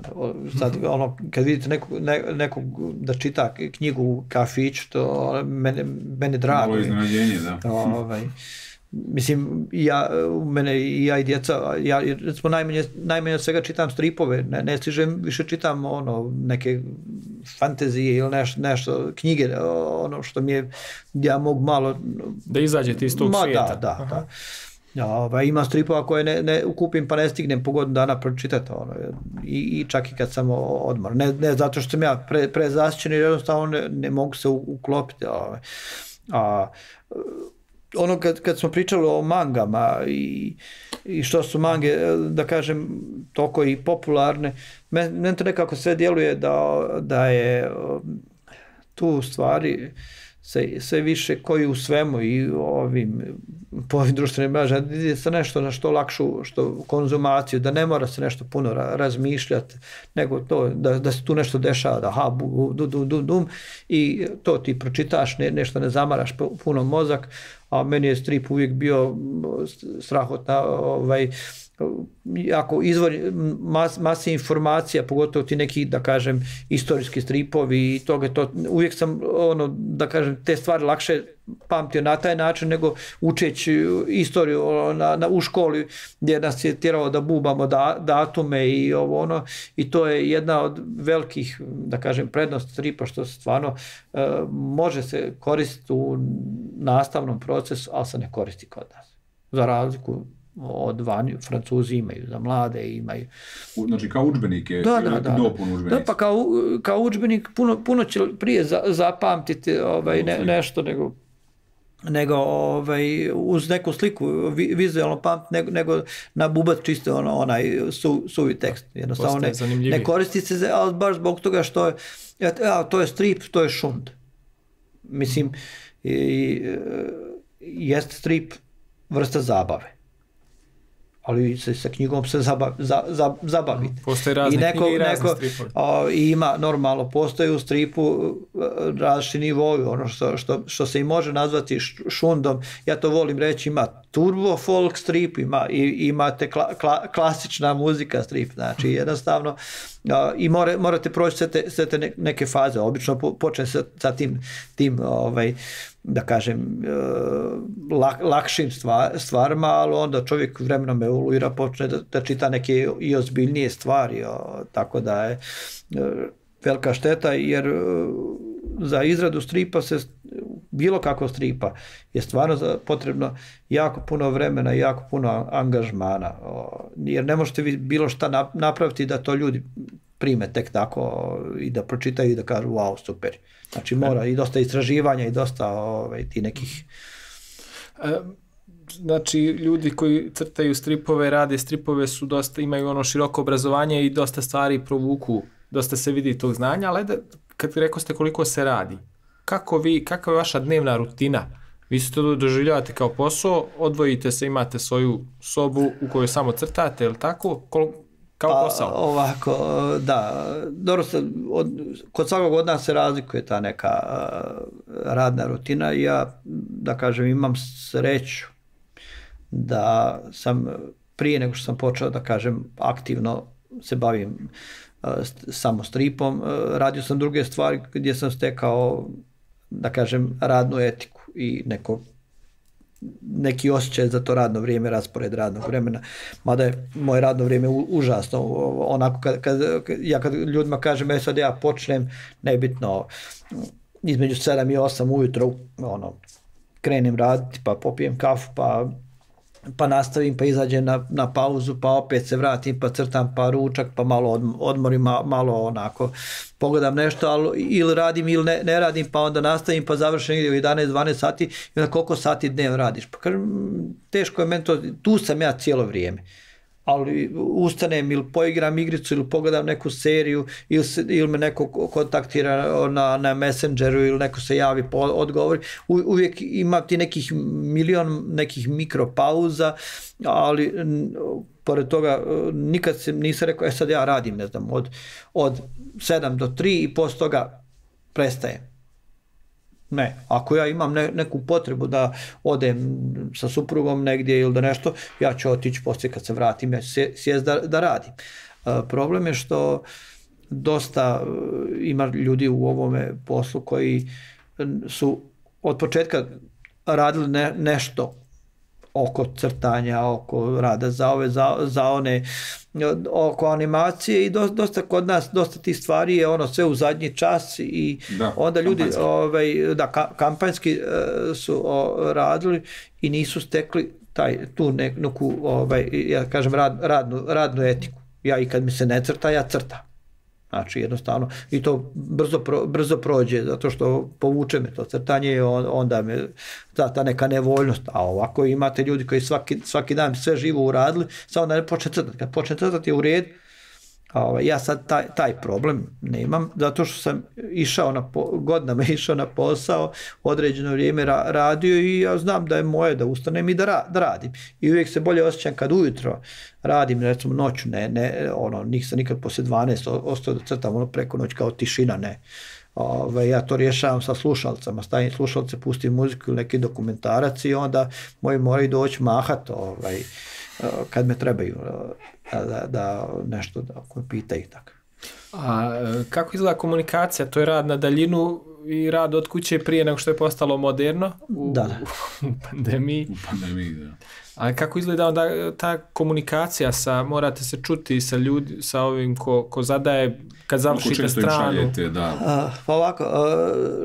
Sad, ono, kad vidite nekog, ne, nekog da čita knjigu u kafiću, to mene, mene drago. Malo iznenađenje, da. Ovaj, mislim, ja, mene i ja i djeca, ja recimo najmanje, najmanje od svega čitam stripove, ne, ne stižem, više čitam ono, neke fantazije ili nešto, nešto, knjige, ono što mi je, ja mogu malo... Da izađete iz tog ma, svijeta. Da, da, da. Ja, ovaj, ima stripova koje ne, ne kupim pa ne stignem po godinu dana pročitati ono, i, i čak i kad sam odmor. Ne, ne zato što sam ja pre, prezasićen, jer jednostavno ne, ne mogu se uklopiti. Ovaj. A, ono kad, kad smo pričali o mangama i, i što su mange, da kažem, toliko i popularne, meni men to nekako sve djeluje da, da je tu stvari sve, sve više koji u svemu i ovim po ovim društvenim mrežama ide se nešto na što lakšu što konzumaciju, da ne mora se nešto puno ra, razmišljati, nego to da, da se tu nešto dešava, da ha, bu, du, du, du, dum, i to ti pročitaš, ne, nešto ne zamaraš puno mozak, a meni je strip uvijek bio strahotna, ovaj, jako izvor mas, masi informacija, pogotovo ti neki, da kažem, istorijski stripovi i toga, to, uvijek sam, ono, da kažem, te stvari lakše pamtio na taj način nego učeći istoriju na, na, u školi gdje nas je tjeralo da bubamo da, datume i ovo ono, i to je jedna od velikih, da kažem, prednosti stripa, što stvarno e, može se koristiti u nastavnom procesu, ali se ne koristi kod nas. Za razliku od vani, Francuzi imaju, za mlade imaju. Znači kao udžbenik je, da, da, da, dopun udžbenik. Da, pa kao, kao udžbenik puno, puno će prije za, zapamtiti ovaj, ne, nešto nego nego ovaj, uz neku sliku vi, vizualno pamet, nego, nego na bubat čisto ono, onaj su, suvi tekst. Jednostavno ne, ne koristi se, ali baš zbog toga što je, ja, to je strip, to je šund. Mislim, i, jest strip vrsta zabave. Ali se sa knjigom se zabav, za, za, zabavite. Postoje razne I neko, knjige i razne neko, stripovi. O, ima, normalno, postoje u stripu različiti nivoji, ono što, što, što se i može nazvati šundom. Ja to volim reći, ima turbo folk strip, ima, i, imate kla, kla, klasična muzika strip, znači jednostavno o, i more, morate proći sve te, sve te neke faze. Obično po, počne sa, sa tim, tim ovaj, da kažem, lak, lakšim stvar, stvarima, ali onda čovjek vremenom evoluira, počne da, da čita neke i ozbiljnije stvari, o, tako da je velika šteta, jer za izradu stripa se, bilo kako stripa, je stvarno potrebno jako puno vremena i jako puno angažmana, o, jer ne možete vi bilo šta napraviti da to ljudi prime tek tako i da pročitaju i da kažu wow, super. Znači mora i dosta istraživanja i dosta ovaj, ti nekih... Znači ljudi koji crtaju stripove, rade stripove su dosta, imaju ono široko obrazovanje i dosta stvari provuku, dosta se vidi tog znanja, ali da, kad rekao ste koliko se radi, kako vi, kakva je vaša dnevna rutina? Vi se to doživljavate kao posao, odvojite se, imate svoju sobu u kojoj samo crtate, ili tako? Koliko kao posao? Pa, ovako, da, dobro se, od, kod svakog od nas se razlikuje ta neka uh, radna rutina. Ja, da kažem, imam sreću da sam prije nego što sam počeo, da kažem, aktivno se bavim uh, samo stripom, uh, radio sam druge stvari gdje sam stekao, da kažem, radnu etiku i neko neki osjećaj za to radno vrijeme, raspored radnog vremena, mada je moje radno vrijeme užasno, onako kad, kad, ja kad ljudima kažem, e sad ja počnem, nebitno, između sedam i osam ujutro, ono, krenem raditi, pa popijem kafu, pa pa nastavim, pa izađem na, na pauzu, pa opet se vratim, pa crtam, pa ručak, pa malo odmorim, malo onako pogledam nešto, ali ili radim ili ne, ne radim, pa onda nastavim, pa završim u jedanaest dvanaest sati i onda koliko sati dnevno radiš? Pa kažem, teško je meni to, tu sam ja cijelo vrijeme. Ali ustanem ili poigram igricu ili pogledam neku seriju ili, se, ili me neko kontaktira na, na Messengeru ili neko se javi po odgovori. U, uvijek ima ti nekih milion nekih mikropauza, ali pored toga nikad se nisam rekao, e sad ja radim, ne znam, od, od sedam do tri i poslije toga prestajem. Ne, ako ja imam ne, neku potrebu da odem sa suprugom negdje ili da nešto, ja ću otići poslije kad se vratim, ja ću sjest da, da radim. E, problem je što dosta ima ljudi u ovome poslu koji su od početka radili ne, nešto oko crtanja, oko rada za ove, za, za one, oko animacije i dosta, dosta kod nas, dosta tih stvari je ono sve u zadnji čas i da, onda ljudi ovaj, da, ka, kampanjski uh, su o, radili i nisu stekli taj, tu neku, ovaj, ja kažem, rad, radnu, radnu etiku. Ja i kad mi se ne crta, ja crtam. Znači jednostavno i to brzo, pro, brzo prođe zato što povuče me to crtanje i on, onda me ta, ta neka nevoljnost, a ovako imate ljudi koji svaki, svaki dan sve živo uradili, samo da ne počne crtati, kad počne crtati je u red, a ovaj, ja sad taj, taj problem nemam, zato što sam išao na, godinama išao na posao, određeno vrijeme ra, radio i ja znam da je moje da ustanem i da, ra, da radim i uvijek se bolje osjećam kad ujutro radim, recimo noću, ne, ne, ono, nisam nikad poslije dvanaest ostao da crtam ono preko noć kao tišina, ne. Ove, ja to rješavam sa slušalcama, stavim slušalce, pustim muziku ili neki dokumentarac i onda moji moraju doći mahat ovaj, kad me trebaju da, da, da nešto da ako me pitaju tako. A kako izgleda komunikacija? To je rad na daljinu i rad od kuće prije nego što je postalo moderno u, da, da. u pandemiji. U pandemiji, da. A kako izgleda onda ta komunikacija sa, morate se čuti sa ljudi, sa ovim ko, ko zadaje, kad završite stranu? Šaljete, da. A, pa ovako,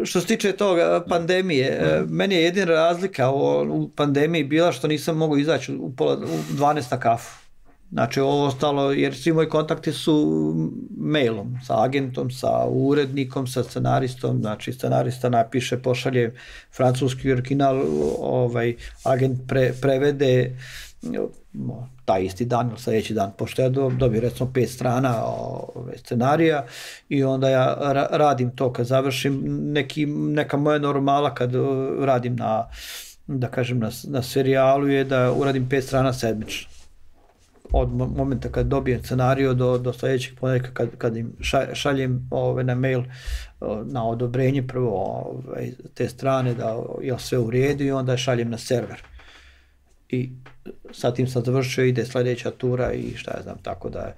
što se tiče toga pandemije, da. Meni je jedina razlika u, u pandemiji bila što nisam mogao izaći u, pola, u dvanaest na kafu. Znači ovo ostalo, jer svi moji kontakti su mailom, sa agentom, sa urednikom, sa scenaristom, znači scenarista napiše, pošalje francuski original, ovaj, agent pre, prevede taj isti dan ili sljedeći dan, pošto ja dobijem recimo pet strana ove, scenarija i onda ja ra, radim to kad završim, neki, neka moja normala kad radim na, da kažem, na, na serijalu je da uradim pet strana sedmično. Od momenta kad dobijem scenario do, do sljedećeg ponedjeljka kad, kad im šaljem ove, na mail na odobrenje prvo ove, te strane da je sve u redu i onda šaljem na server. I sa tim sam završio, ide sljedeća tura i šta ja znam, tako da je,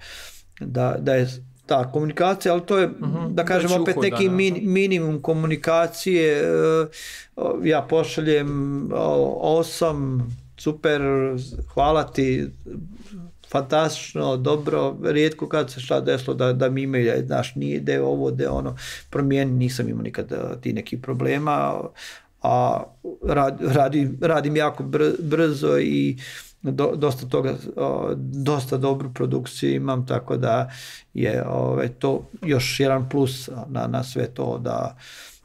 da, da je ta komunikacija, ali to je, uh-huh, da kažem, opet uhoda, neki min, minimum komunikacije. Ja pošaljem osam, super, hvala ti, fantastično, dobro, rijetko kad se šta desilo da, da mi imaju, znaš, nije de ovo, de ono, promijeni, nisam imao nikad ti nekih problema, a rad, radim, radim jako brzo i do, dosta toga, dosta dobru produkciju imam, tako da je ove, to još jedan plus na, na sve to da,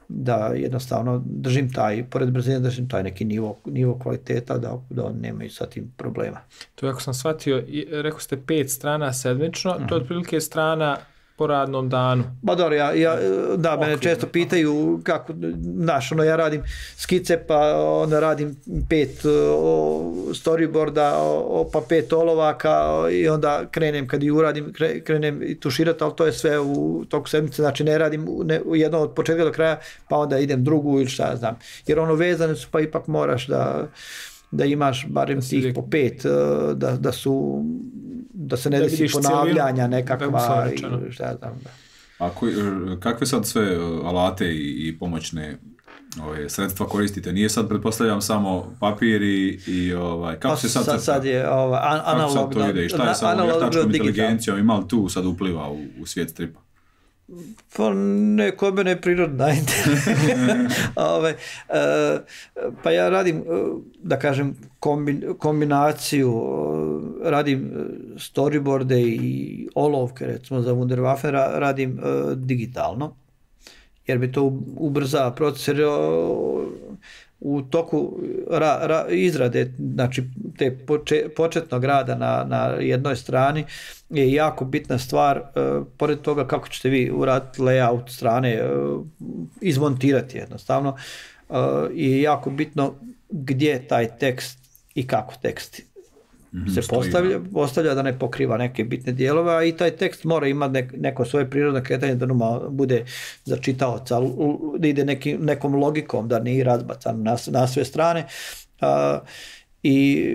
da jednostavno držim taj, pored brzine držim taj neki nivo, nivo kvaliteta da, da nemaju sa tim problema. To je, ako sam shvatio, rekao ste pet strana sedmično, uh-huh. To je otprilike strana po radnom danu. Ba dobro, ja, ja, da, mene često pitaju kako, znaš, ono, ja radim skice, pa onda radim pet o, storyboarda, o, pa pet olovaka i onda krenem, kad i uradim, krenem i tuširati, ali to je sve u toku sedmice, znači ne radim ne, jedno od početka do kraja, pa onda idem drugu ili šta znam. Jer ono vezane su, pa ipak moraš da, da imaš barem tih po pet, da, da su da se ne da desi ponavljanja nekakva i šta znam. Da. A koji, kakve sad sve alate i, i pomoćne ove, sredstva koristite? Nije sad, pretpostavljam, samo papir i, i ovaj, kako pa se sad... Sad, sad je ovaj, an, analogno... Kako sad to ide? I šta je sa ovom vještačkom inteligencijom? Ima li tu sad upliva u, u svijet stripa? Pa ne, kod mene je prirodna Ove, e, pa ja radim, da kažem, kombin, kombinaciju, radim storyboarde i olovke, recimo za Wunderwaffe radim e, digitalno, jer bi to ubrza proces, jer u toku ra, ra, izrade, znači te poče, početnog rada na, na jednoj strani je jako bitna stvar, uh, pored toga kako ćete vi uraditi layout strane, uh, izmontirati jednostavno, uh, je jako bitno gdje taj tekst i kako tekst mm-hmm, se postavlja, postavlja da ne pokriva neke bitne dijelove, a i taj tekst mora imati nek, neko svoje prirodno kretanje da numa bude za čitaoca, da ide neki, nekom logikom, da nije razbacan na, na sve strane. Uh, I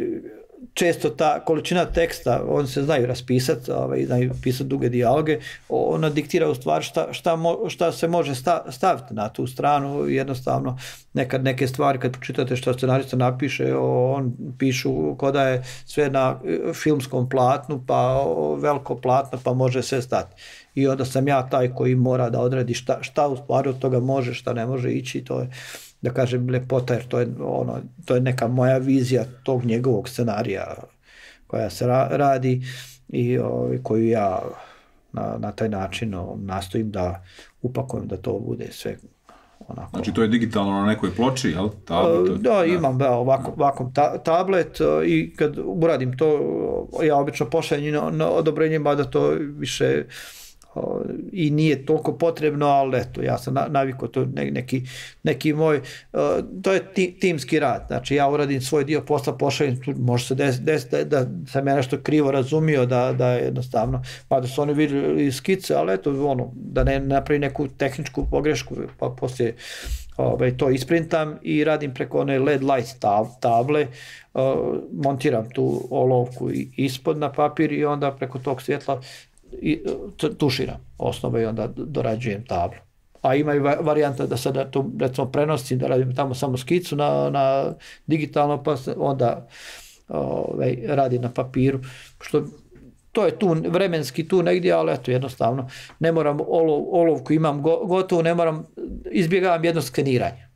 često ta količina teksta, oni se znaju raspisati, ovaj, znaju pisati duge dijaloge, ona diktira u stvari šta, šta, mo, šta se može sta, staviti na tu stranu, jednostavno nekad neke stvari kad pročitate što scenarista napiše, on pišu ko da je sve na filmskom platnu, pa veliko platno, pa može sve stati. I onda sam ja taj koji mora da odredi šta, šta u stvari od toga može, šta ne može ići, to je, da kažem, lepota, jer to je, ono, to je neka moja vizija tog njegovog scenarija koja se ra, radi i o, koju ja na, na taj način o, nastojim da upakujem da to bude sve onako. Znači to je digitalno na nekoj ploči, jel? Tablet, da, da, imam da, ovako, ovako ta, tablet i kad uradim to, ja obično pošaljem na, na odobrenje, mada to više i nije toliko potrebno, ali eto, ja sam navikao to neki, neki moj, to je ti, timski rad, znači ja uradim svoj dio posla, pošaljem, može se desiti des, da, da sam ja nešto krivo razumio, da, da jednostavno, pa da su oni vidjeli skice, ali eto, ono, da ne napravi neku tehničku pogrešku, pa poslije ovaj, to isprintam i radim preko one L E D light tab, table, uh, montiram tu olovku ispod na papir i onda preko tog svjetla i tuširam osnove i onda dorađujem tablu. A ima i varijanta da sada to recimo prenosim, da radim tamo samo skicu na, na digitalno, pa onda ovaj, radim na papiru, što to je tu vremenski tu negdje, ali eto jednostavno ne moram olov, olovku imam go, gotovo, ne moram, izbjegavam jedno skeniranje.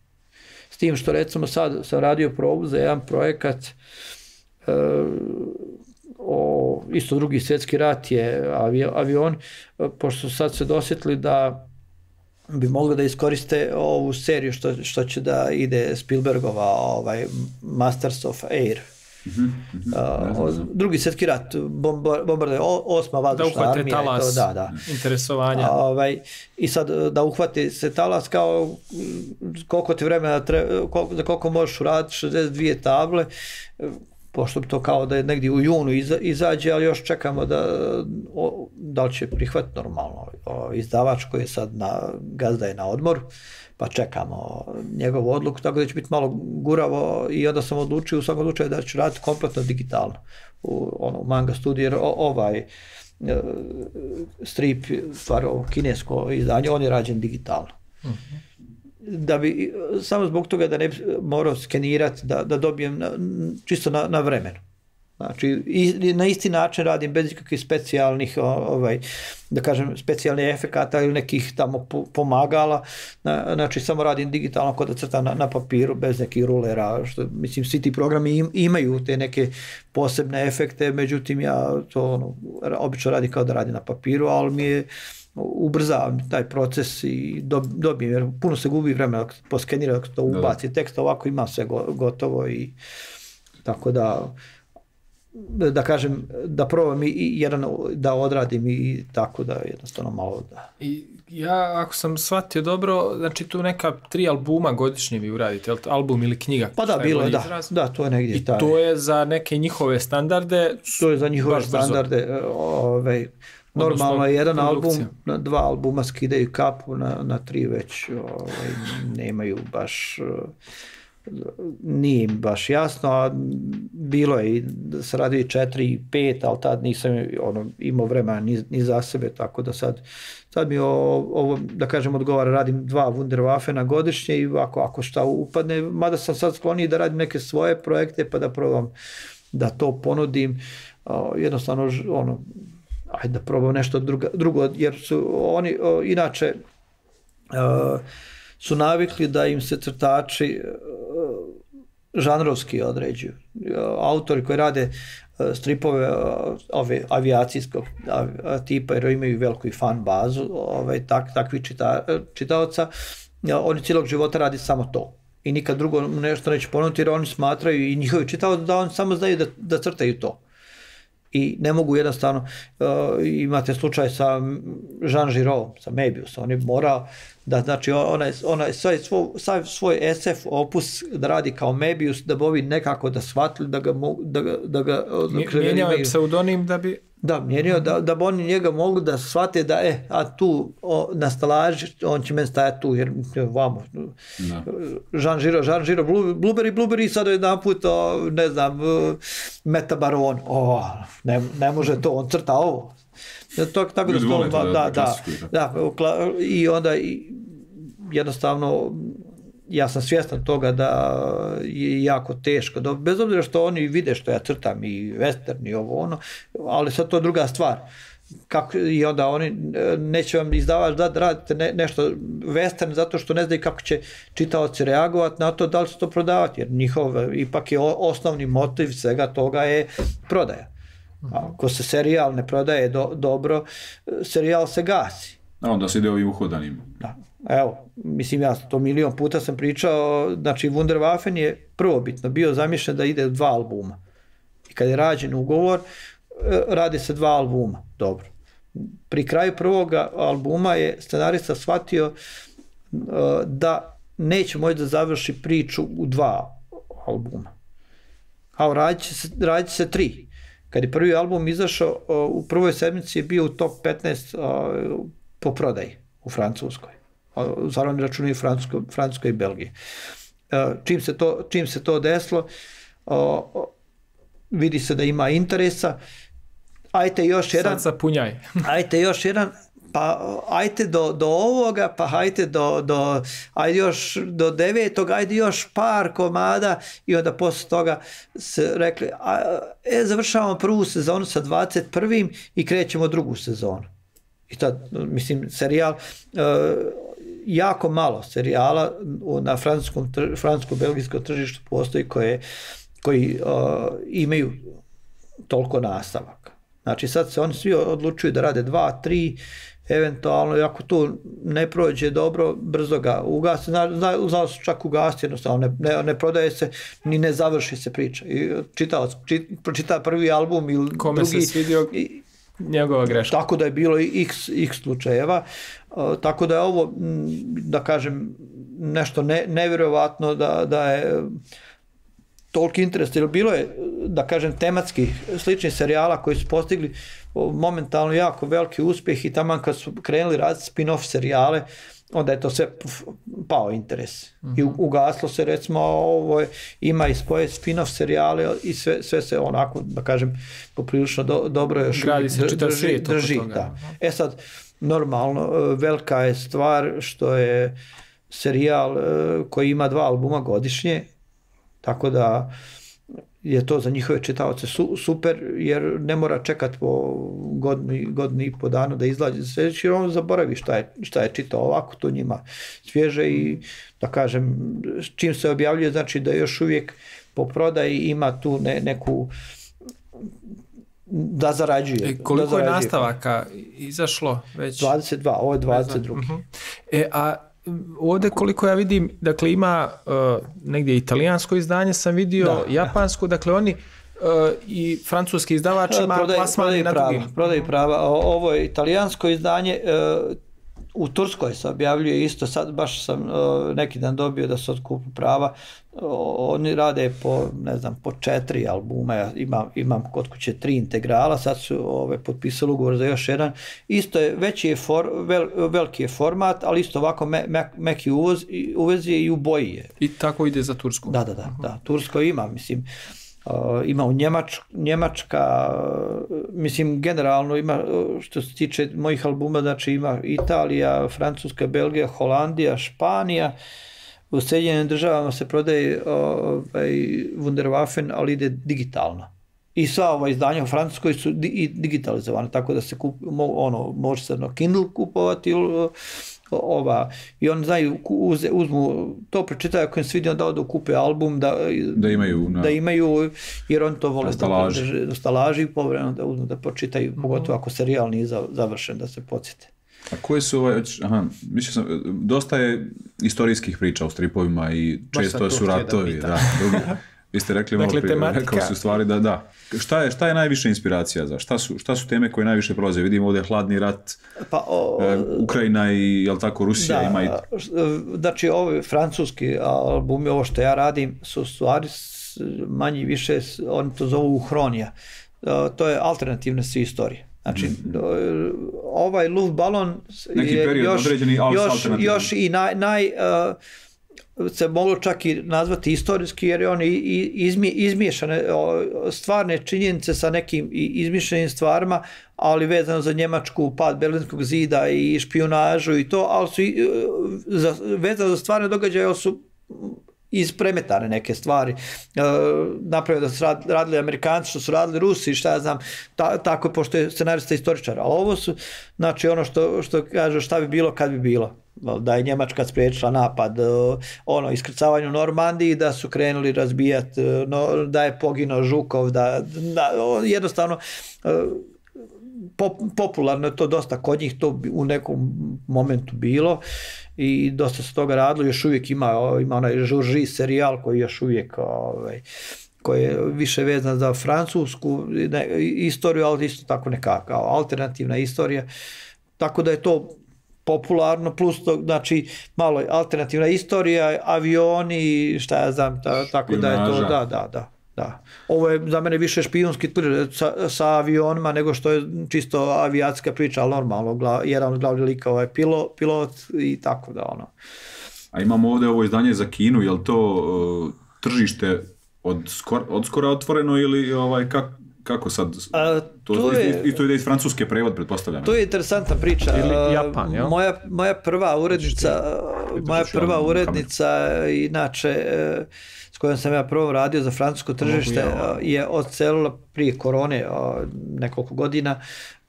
S tim što recimo sad sam radio probu za jedan projekat uh, o o, isto drugi svjetski rat je avi, avion, pošto sad se dosjetili da bi mogli da iskoriste ovu seriju što, što će da ide Spielbergova ovaj, Masters of Air. Mm-hmm, mm-hmm. Uh, drugi svjetski rat, bombarde, osma vazdušna armija. Da uhvate talas, to, da, da. interesovanja. Ovaj, I sad da uhvati se talas kao koliko ti vremena treba, koliko, za koliko možeš uraditi šezdeset dvije table, pošto to kao da je negdje u junu iza, izađe, ali još čekamo da, o, da li će prihvatiti normalno. O, izdavač koji je sad na, gazda je na odmoru, pa čekamo njegovu odluku, tako da će biti malo guravo i onda sam odlučio u svakom slučaju da ću raditi kompletno digitalno u ono, manga studiju, jer ovaj strip, stvar ovo kinesko izdanje, on je rađen digitalno. Mm-hmm. Da bi, samo zbog toga da ne bi morao skenirati, da, da dobijem na, čisto na, na vremenu. Znači, i, na isti način radim bez ikakvih specijalnih, ovaj, da kažem, specijalnih efekata ili nekih tamo pomagala. Na, znači, samo radim digitalno kod da crtam na, na papiru, bez nekih rulera. Što, mislim, svi ti programi im, imaju te neke posebne efekte, međutim, ja to ono, obično radim kao da radim na papiru, ali mi je ubrzavam taj proces i dobijem, jer puno se gubi vremena poskenira, ako to ubaci tekst, ovako ima sve gotovo i tako da da kažem, da probam i jedan da odradim i tako da jednostavno malo da. I ja, ako sam shvatio dobro, znači tu neka tri albuma godišnje vi uradite, album ili knjiga? Pa da, bilo je, da, da, to je negdje. I taj. To je za neke njihove standarde? To je za njihove standarde, ovaj, normalno je jedan album, na dva albuma skidaju kapu, na, na tri već ovaj, nemaju baš, nije im baš jasno, a bilo je i da se radi i četiri i pet, ali tad nisam ono, imao vremena ni, ni za sebe, tako da sad, sad mi ovo, ovo, da kažem, odgovara, radim dva Wunderwaffena godišnje i ako, ako šta upadne, mada sam sad skloniji da radim neke svoje projekte, pa da probam da to ponudim, jednostavno, ono, ajde da probam nešto druga, drugo, jer su oni o, inače o, su navikli da im se crtači o, žanrovski određuju. Autori koji rade o, stripove o, ove avijacijskog tipa, jer imaju veliku fan bazu, ovaj, tak, takvi čita, čitaoca, oni cijelog života radi samo to. I nikad drugo nešto neće ponuditi, jer oni smatraju i njihovi čitaoci da oni samo znaju da, da crtaju to. I ne mogu jednostavno, uh, imate slučaj sa Jean Giraud, sa Möbius, on je morao da, znači, onaj, onaj svoj, svoj, svoj es ef opus da radi kao Möbius, da bi ovi nekako da shvatili, da ga mogu, da ga... Da ga mijenjao je pseudonim da bi... Da, mijenjao, da, da bi oni njega mogli da shvate da, e, a tu o, na stalaži, on će meni stajati tu, jer vamo, no. Jean Giraud, Jean Giraud, Blueberry, Blueberry, sad jedan put, o, ne znam, Meta Baron, o, ne, ne može to, on crta ovo. To, tako da, to, da, da, da, da, i onda i, jednostavno, ja sam svjestan toga da je jako teško, da, bez obzira što oni vide što ja crtam i western i ovo ono, ali sad to je druga stvar. Kako, i onda oni neće vam izdavač da radite ne, nešto western zato što ne znaju kako će čitaoci reagovati na to, da li će to prodavati, jer njihov ipak je osnovni motiv svega toga je prodaja. Ako se serijal ne prodaje do, dobro, serijal se gasi. A onda se ide ovim uhodanim. Da. Evo, mislim, ja to milion puta sam pričao, znači Wunderwaffen je prvobitno bio zamišljen da ide u dva albuma. I kad je rađen ugovor, radi se dva albuma, dobro. Pri kraju prvog albuma je scenarista shvatio uh, da neće moći da završi priču u dva albuma. A radit će se, radit će se tri. Kad je prvi album izašao, uh, u prvoj sedmici je bio u top petnaest uh, po prodaji u Francuskoj. Zar oni računaju Francuskoj, Francuskoj i Belgiji. Uh, čim, se to, čim se to desilo, uh, vidi se da ima interesa, ajte još jedan, sad zapunjaj. ajte još jedan, pa ajte do, do ovoga, pa ajte do, do, ajde još do devetog, ajde još par komada i onda posle toga se rekli, a, e, završavamo prvu sezonu sa dvadeset prvim i krećemo drugu sezonu. I tad, mislim, serijal, uh, jako malo serijala na francuskom, francusko-belgijskom tržištu postoji koje, koji uh, imaju toliko nastavaka. Znači sad se oni svi odlučuju da rade dva, tri, eventualno, i ako tu ne prođe dobro, brzo ga ugasi, znao su čak ugasti, jednostavno ne, ne, ne prodaje se, ni ne završi se priča. I čitao, čit, pročita prvi album ili kome drugi. Se svidio i, njegova greška. Tako da je bilo i x, x slučajeva, uh, tako da je ovo, da kažem, nešto ne, nevjerovatno da, da je toliki interes, jer bilo je, da kažem, tematski sličnih serijala koji su postigli momentalno jako veliki uspjeh i taman kad su krenuli raditi spin-off serijale, onda je to sve pao interes. Mm-hmm. I ugaslo se, recimo, ovo je, ima i svoje spin-off serijale i sve, sve se onako, da kažem, poprilično do, dobro još gradi se čitav drži, svijet drži, oko toga. Da. E sad, normalno, velika je stvar što je serijal koji ima dva albuma godišnje, tako da je to za njihove čitaoce su, super, jer ne mora čekati po godini, godini i po danu da izlazi sljedeći, jer on zaboravi šta je, šta je čitao, ovako to njima svježe i, da kažem, čim se objavljuje, znači da još uvijek po prodaji ima tu ne, neku da zarađuje. E, koliko da zarađuje. Je nastavaka izašlo već? dvadeset dva, ovo je dvadeset drugi. Uh-huh. E, a ovdje koliko ja vidim, dakle ima uh, negdje italijansko izdanje sam vidio, da, japansko, da. Dakle oni uh, i francuski izdavač ima plasmani na prava, drugim. Prodaj prava. Ovo je italijansko izdanje, uh, u Turskoj se objavljuje isto, sad baš sam uh, neki dan dobio da se otkupu prava, uh, oni rade po, ne znam, po četiri albuma, ja imam, imam kod kuće tri integrala, sad su ove, potpisali ugovor za još jedan, isto je, veći je, for, vel, veliki je format, ali isto ovako me, me, meki uvoz, uvez je i u boji je. I tako ide za Tursku? Da, da, da, uh-huh. da. Tursko ima, mislim, Uh, ima u Njemač, Njemačka, uh, mislim generalno ima, uh, što se tiče mojih albuma, znači ima Italija, Francuska, Belgija, Holandija, Španija, u Sjedinjenim državama se prodaje uh, ovaj, Wunderwaffen, ali ide digitalno. I sva ova izdanja u Francuskoj su di- digitalizovane, tako da se kup, mo, ono, može se na Kindle kupovati ili ova, i oni znaju, uze, uzmu, to pročitaju ako im svidi, onda odu kupe album da, da, imaju, na, da imaju, jer oni to vole da stalaži i povremeno da uzmu da pročitaju, mm-hmm. pogotovo ako serijal nije završen, da se podsjete. A koje su ovaj, aha, mislio sam, dosta je istorijskih priča u stripovima i često su ratovi, da, drugi. Vi ste rekli malo dakle, prije, tematika... rekao su stvari da, da. Šta je, šta je najviše inspiracija za? Šta su, šta su teme koje najviše prolaze? Vidimo ovdje hladni rat, pa, o, e, Ukrajina i, jel tako, Rusija da, ima i... Znači, ovi francuski albumi, ovo što ja radim, su stvari manje više, oni to zovu uhronija. To je alternativne sve istorije. Znači, mm-hmm. ovaj Luftballon je još, još, još i naj... naj uh, se moglo čak i nazvati istorijski, jer je on izmi, izmiješane stvarne činjenice sa nekim izmišljenim stvarima, ali vezano za Njemačku, pad Berlinskog zida i špijunažu i to, ali su i, za, vezano za stvarne događaje su ispremetane neke stvari. E, napravio da su radili Amerikanci, što su radili Rusi, šta ja znam, ta, tako pošto je scenarista istoričar, ali ovo su, znači ono što, što kaže šta bi bilo kad bi bilo. Da je Njemačka spriječila napad, ono, iskrcavanje u Normandiji, da su krenuli razbijati, no, da je poginuo Žukov, da, da jednostavno pop, popularno je to dosta kod njih, to u nekom momentu bilo i dosta se toga radilo, još uvijek ima, ima onaj Žurži serijal koji još uvijek ovaj, koji je više vezan za francusku ne, istoriju, ali isto tako neka kao alternativna istorija, tako da je to popularno, plus to, znači, malo alternativna istorija, avioni, šta ja znam, ta, tako Špionaža. Da je to, da, da, da, da. Ovo je za mene više špijunski thriller sa, sa avionima nego što je čisto avijatska priča, ali normalno, gla, jedan od glavnih likova je pilo, pilot i tako da, ono. A imamo ovdje ovo izdanje za Kinu, je li to uh, tržište od, skor, od skora otvoreno ili ovaj, kako? Kako sad? A, to, to je, i to ide iz francuske prevod, pretpostavljam. To je interesantna priča. Ili Japan, jel? Moja, moja prva urednica, moja prva urednica, inače, s kojom sam ja prvo radio za francusko tržište, je odselila prije korone nekoliko godina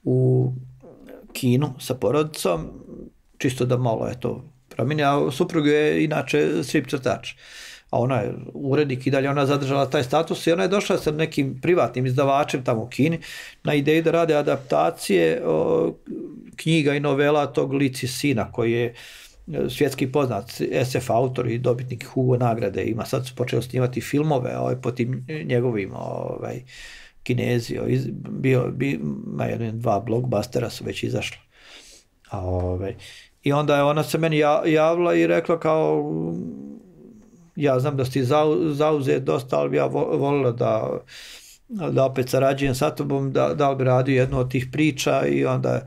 u Kinu sa porodicom, čisto da malo je to promijenio, a suprug je inače strip crtač. a ona je urednik i dalje ona zadržala taj status i ona je došla sa nekim privatnim izdavačem tamo u Kini na ideju da rade adaptacije o, knjiga i novela tog Lici sina koji je svjetski poznat es ef autor i dobitnik Hugo nagrade, ima sad su počeli snimati filmove ovaj, po tim njegovim ovaj, Kinezi, bio, bio, ima jedan, dva blockbustera su već izašli. A, ovaj, i onda je ona se meni javila i rekla kao ja znam da si zauzet dosta, ali bi ja volila da, da opet sarađujem sa tobom, da, da li bi radio jednu od tih priča i onda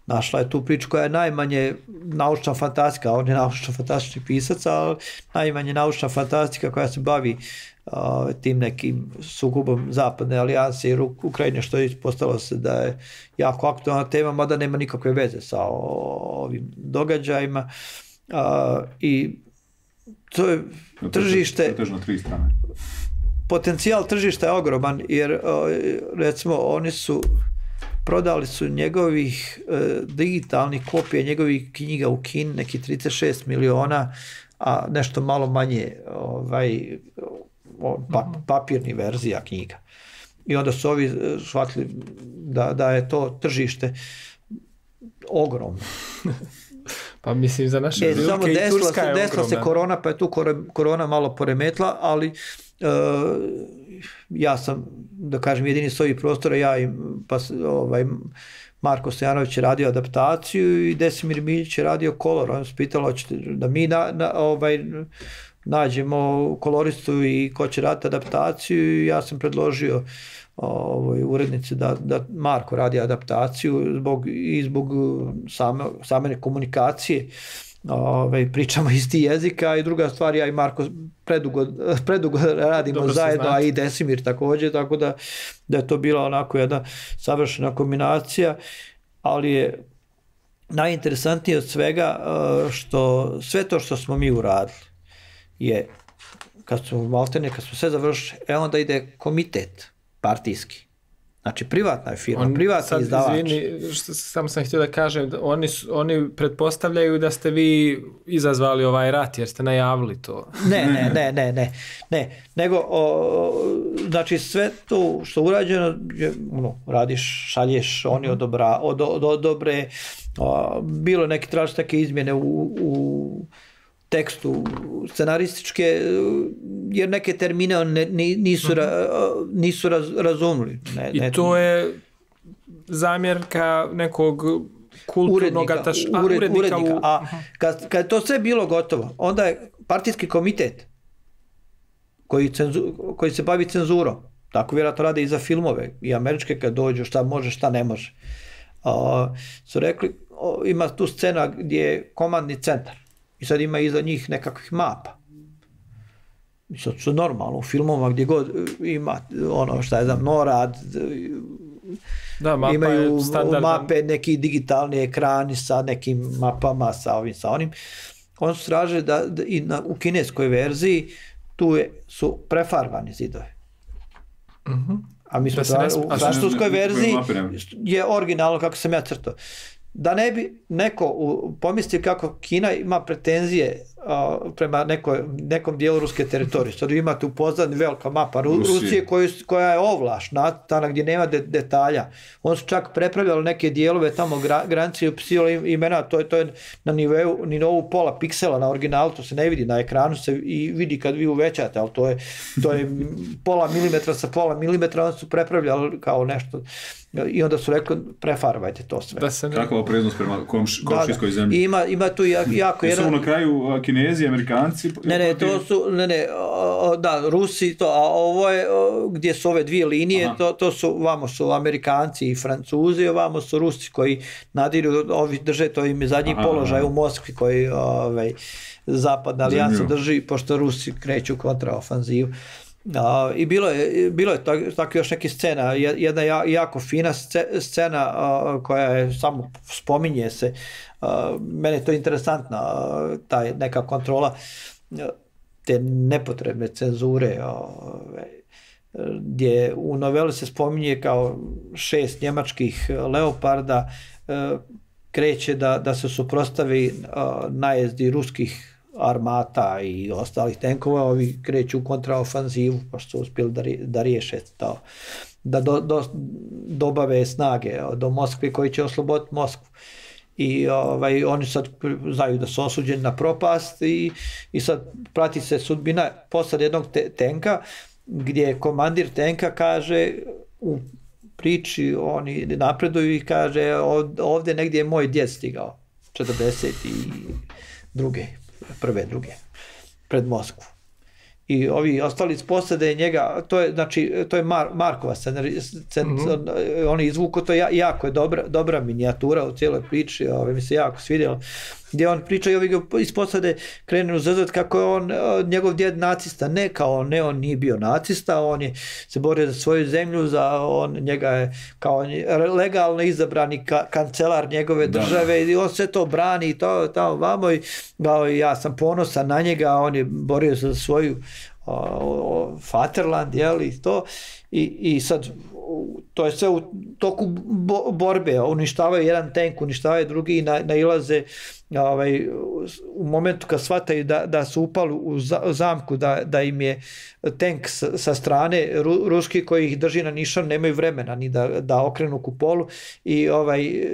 našla je tu priču koja je najmanje naučna fantastika, on je naučno fantastični pisac, ali najmanje naučna fantastika koja se bavi uh, tim nekim sukobom zapadne alijanse i Ukrajine, što je ispostavilo se da je jako aktualna tema, mada nema nikakve veze sa o, ovim događajima. Uh, I to je tržište... To je na tri strane. Potencijal tržišta je ogroman, jer uh, recimo oni su prodali su njegovih uh, digitalnih kopija njegovih knjiga u Kini neki trideset šest miliona, a nešto malo manje ovaj, pa, papirni verzija knjiga. I onda su ovi shvatili da, da je to tržište ogromno. Pa mislim za naše e, prilike i Turska je desila se korona, pa je tu korona malo poremetla, ali uh, ja sam, da kažem, jedini s ovih prostora, ja i pa, ovaj, Marko Stojanović je radio adaptaciju i Desimir Miljić je radio kolor. On se pitalo da mi na, na, ovaj, nađemo koloristu i ko će raditi adaptaciju i ja sam predložio ovoj urednici da, da Marko radi adaptaciju zbog, i zbog same, same komunikacije. Ove, pričamo isti jezika i druga stvar, ja i Marko predugo, predugo radimo dobro zajedno, a i Desimir također, tako da, da je to bila onako jedna savršena kombinacija, ali je najinteresantnije od svega što sve to što smo mi uradili je, kad smo maltene, kad smo sve završili, e onda ide komitet partijski. Znači, privatna je firma, on, privatni sad, izdavač. Izvini, što, samo sam htio da kažem, oni, su, oni pretpostavljaju da ste vi izazvali ovaj rat, jer ste najavili to. Ne, ne, ne, ne, ne, ne. Nego, o, znači, sve to što urađeno, je, ono, radiš, šalješ, oni odobra, od, od, odobre, o, bilo neke traži neke izmjene u, u tekstu scenarističke, jer neke termine ne, nisu, uh-huh. nisu raz, razumili. Ne, I ne, to je zamjerka nekog kulturnog ataš, a, ured, urednika. urednika. U... A kad, kad to sve bilo gotovo, onda je partijski komitet koji, cenzu, koji se bavi cenzurom, tako vjerojatno rade i za filmove, i američke kad dođu, šta može, šta ne može. Uh, su rekli, o, ima tu scena gdje je komandni centar. I sad ima iza njih nekakvih mapa. I sad su normalno u filmovima gdje god ima ono šta je znam, NORAD, da, mapa imaju mape, neki digitalni ekrani sa nekim mapama, sa ovim, sa onim. On su traže da, da i na, u kineskoj verziji tu je, su prefarbani zidovi. Uh-huh. A mi smo traži, u francuskoj verziji je originalno kako sam ja crtao. Da ne bi neko pomislio kako Kina ima pretenzije uh, prema nekoj, nekom dijelu ruske teritorije. Sad imate u pozadini velika mapa Ru, Rusije, Rusije koju, koja je ovlaš, tamo gdje nema de, detalja. On su čak prepravljali neke dijelove tamo gra, granice i upisivali imena, to je, to je na nivou, nivou pola piksela na originalu, to se ne vidi, na ekranu se i vidi kad vi uvećate, ali to je, to je pola milimetra sa pola milimetra, on su prepravljali kao nešto. I onda su rekli, prefarbajte to sve. Da se ne... Kakva opreznost prema komš, komšijskoj zemlji. I ima, ima tu jako, jako jedan... Su na kraju Kinezi, Amerikanci? Ne, ne, to su, ne, ne, da, Rusi, to, a ovo je, gdje su ove dvije linije, to, to su, vamo su Amerikanci i Francuzi, a vamo su Rusi koji nadiru, ovi drže, to im je zadnji aha, položaj aha. u Moskvi koji ovaj, zapadna alijansa drži, pošto Rusi kreću kontraofanzivu. Uh, I bilo je, bilo je tako, tako još neke scena, jedna jako fina scena uh, koja je samo spominje se, uh, mene je to interesantna, uh, ta neka kontrola uh, te nepotrebne cenzure, uh, gdje u noveli se spominje kao šest njemačkih leoparda uh, kreće da, da se suprotstavi uh, najezdi ruskih armata i ostalih tenkova, ovi kreću u kontraofanzivu, pa što su uspjeli da, da riješe to, da do, do, dobave snage do Moskve koji će osloboditi Moskvu. I ovaj, oni sad znaju da su osuđeni na propast i, i sad prati se sudbina posad jednog te, tenka, gdje komandir tenka kaže u priči, oni napreduju i kaže ovdje negdje je moj djed stigao, četrdeset druge, prve, druge, pred Moskvu. I ovi ostali iz posade njega, to je, znači, to je Mar, Markova scenarij, scen, mm-hmm. oni izvuku, to je jako je dobra, dobra minijatura u cijeloj priči, ove, mi se jako svidjelo, gdje on priča i ovi iz posade krenu zazvat kako je on, njegov djed nacista, ne kao ne, on nije bio nacista, on je se borio za svoju zemlju, za on, njega je kao legalno izabrani ka, kancelar njegove države da. I on sve to brani i to tamo vamo i kao, ja sam ponosan na njega, on je borio za svoju o, o, Vaterland, jel, i to i, i sad to je sve u toku bo, borbe, uništavaju jedan tank, uništavaju drugi i na, nailaze ovaj, u momentu kad shvataju da, da su upali u zamku, da, da im je tank sa, sa strane ru, ruski koji ih drži na nišan, nemaju vremena ni da, da okrenu kupolu i ovaj,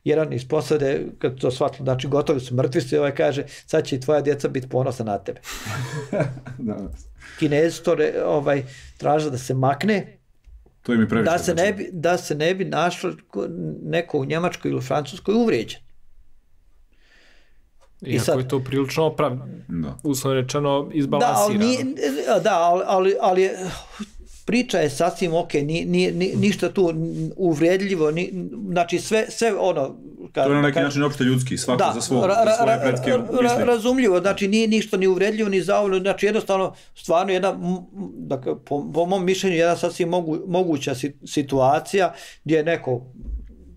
jedan iz posade kad to shvatili, znači gotovi su, mrtvi su, ovaj kaže sad će i tvoja djeca biti ponosna na tebe. Kinezi to ovaj, traže da se makne, to im je previše, da se ne bi, da se ne bi našlo neko u Njemačkoj ili u Francuskoj uvrijeđen. Iako sad, je to prilično opravdano, uslovno rečeno izbalansirano. Da, ali, nije, da, ali, ali, ali je, priča je sasvim ok, ni, ni, ni, ništa tu uvrijedljivo, ni, znači sve, sve ono... Kad, to je na neki kad, način opšte ljudski, svako da, za, svo, ra, za svoje pretke ra, razumljivo, znači nije ništa ni uvrijedljivo, ni zauvljeno, znači jednostavno, stvarno jedna, dakle, po, po mom mišljenju, jedna sasvim mogu, moguća situacija gdje je neko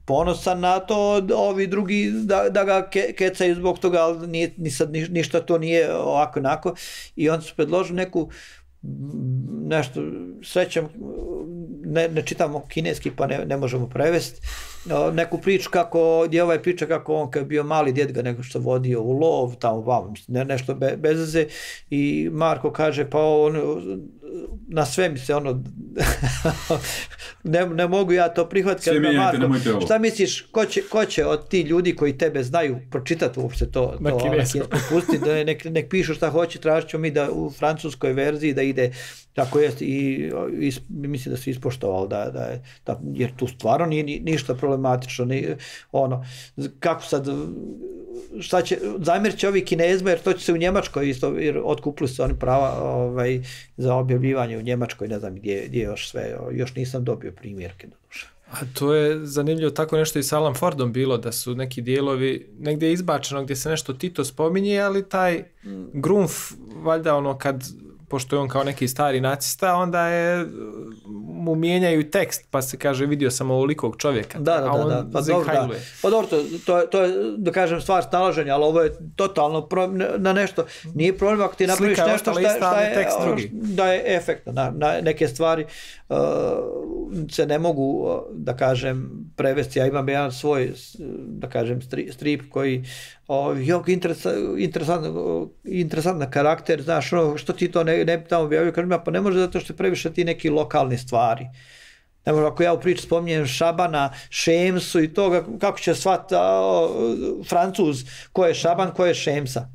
ponosan na to, ovi drugi da, da ga ke, kecaju zbog toga, ali nije, ni sad, ništa to nije ovako onako i on su predložili neku nešto, srećem, ne, ne čitamo kineski pa ne, ne možemo prevesti, neku priču kako, gdje ovaj priča kako on kad je bio mali djed ga neko što vodio u lov, tamo vam, ne, nešto be, bez veze i Marko kaže pa on, na sve mi se ono, ne, ne mogu ja to prihvatiti. Sve mijenjate, nemojte ovo. Šta misliš, ko će, ko će od ti ljudi koji tebe znaju pročitati uopšte to, na kineskom, pusti, da nek, nek pišu šta hoće, tražit ćemo mi da u francuskoj verziji da ide tako jest i, i mislim da se ispoštovalo da, da je, da, jer tu stvarno nije ni, ništa problematično, ni, ono, kako sad, šta će, zamjerit će ovi Kinezima jer to će se u Njemačkoj isto, jer otkupili su oni prava ovaj, za objavljivanje u Njemačkoj, ne znam gdje, gdje još sve, još nisam dobio primjerke do duše. A to je zanimljivo, tako nešto i s Alan Fordom bilo, da su neki dijelovi negdje izbačeno gdje se nešto Tito spominje, ali taj Grunf, valjda ono kad, pošto je on kao neki stari nacista, onda je, mu mijenjaju tekst, pa se kaže vidio sam ovolikog čovjeka. Da, da, a on da, da. Pa dobro, da. Pa dobro, to, to, to je, da kažem, stvar snalaženja, ali ovo je totalno pro, na nešto. Nije problem ako ti napraviš Slika nešto šta, šta je, tekst drugi. Da je efektno. Na, na neke stvari uh, se ne mogu, da kažem, prevesti. Ja imam jedan svoj, da kažem, strip koji jako interesantan interesantan karakter, znaš, ono, što ti to ne, ne tamo objavio, kažem ja, pa ne može zato što je previše ti neki lokalne stvari. Ne može, ako ja u priči spominjem Šabana, Šemsu i toga, kako će shvat Francuz ko je Šaban, ko je Šemsa.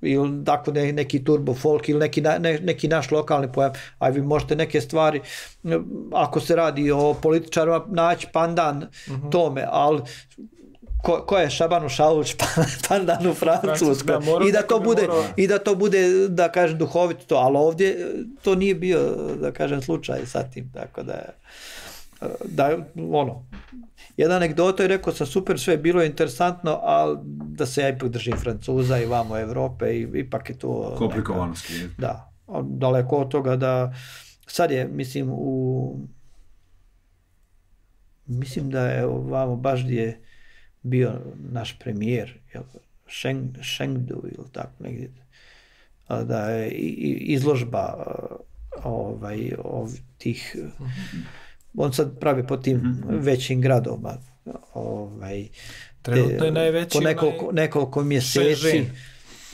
Ili tako ne, neki turbo folk ili neki, ne, neki naš lokalni pojam, a vi možete neke stvari, ako se radi o političarima, naći pandan uh-huh. tome, ali Ko, ko je Šabanu Šaluć pandan u Francuskoj i da to bude mora... i da to bude da kažem duhovito to, ali ovdje to nije bio da kažem slučaj sa tim, tako da da ono jedna anegdota je rekao sam super, sve je bilo interesantno, ali da se ja ipak držim Francuza i vamo Evrope i ipak je to komplikovanosti. Da, daleko od toga da sad je mislim u mislim da je vamo baš gdje bio naš premijer, Sheng, Chengdu ili tako negdje, da je izložba ovaj, ov, tih, on sad pravi po tim mm-hmm. većim gradovima, ovaj, trenutno je najveći po nekoliko, nekoliko mjeseci,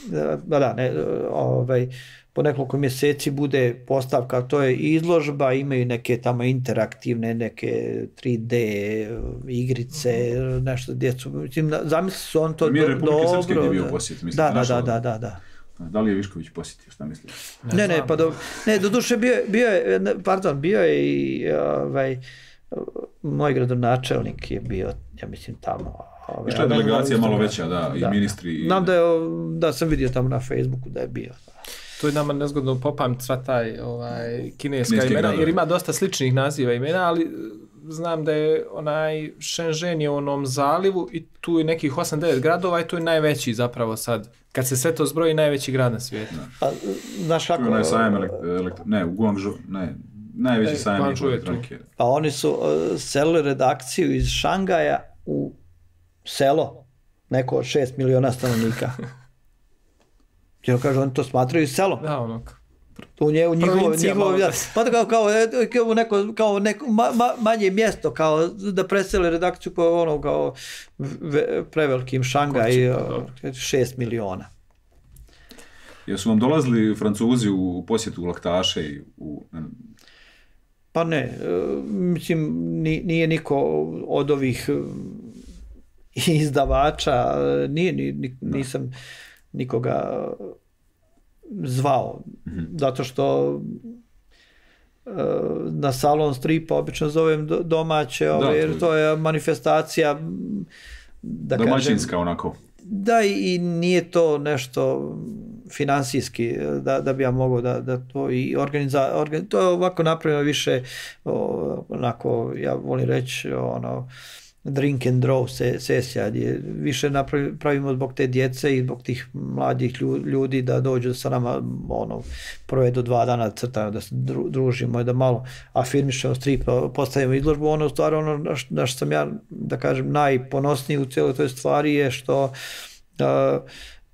da, da, ne, ovaj, po nekoliko mjeseci bude postavka, to je izložba, imaju neke tamo interaktivne, neke tri D igrice, mm-hmm. nešto djecu, mislim, zamisli su on to Mir do, Republike dobro. Srpske gdje je bio posjet, mislim, da, da, da, da, da, da. Da li je Višković posjetio, šta misliš? Ne, ne, ne, pa do, ne, do duše bio, bio je, pardon, bio je i ovaj, moj gradonačelnik je bio, ja mislim, tamo. Ove, Išla je delegacija malo veća, da, da, i ministri. I... Znam da, je, da sam vidio tamo na Facebooku da je bio. To je nama nezgodno popamti sva taj ovaj, kineska imena, gradovi. Jer ima dosta sličnih naziva imena, ali znam da je onaj Shenzhen je u onom zalivu i tu je nekih osam devet gradova i tu je najveći zapravo sad. Kad se sve to zbroji, najveći grad na svijetu. A, znaš kako... Tu je sajam elektro... Ne, u Guangzhou, ne, najveći sajam elektronike. Pa oni su uh, selili redakciju iz Šangaja u selo, neko od šest miliona stanovnika. Jer kažu, oni to smatraju selom. Da, ono. U, nje, u njihovo, njihovo ja, pa kao, kao, kao, neko, kao neko ma, ma, manje mjesto, kao da presele redakciju po ono, kao ve, prevelikim Šangaj, šest miliona. Jesu vam dolazili Francuzi u posjetu laktaše i u... Pa ne, mislim, nije niko od ovih izdavača, nije, ni, nisam nikoga zvao, mm-hmm. zato što na salon stripa obično zovem domaće, da, ove, jer to, to je manifestacija da domaćinska kažem, onako. Da, i nije to nešto finansijski da, da bi ja mogao da, da to i organiza, organ, to je ovako napravljeno više o, onako, ja volim reći ono drink and draw se, sesija gdje više napravi, pravimo zbog te djece i zbog tih mladih ljudi da dođu sa nama ono, provedu dva dana crtaju, da se dru, družimo i da malo afirmišemo strip, postavimo izložbu. Ono stvar, ono na što sam ja da kažem najponosniji u cijeloj toj stvari je što uh,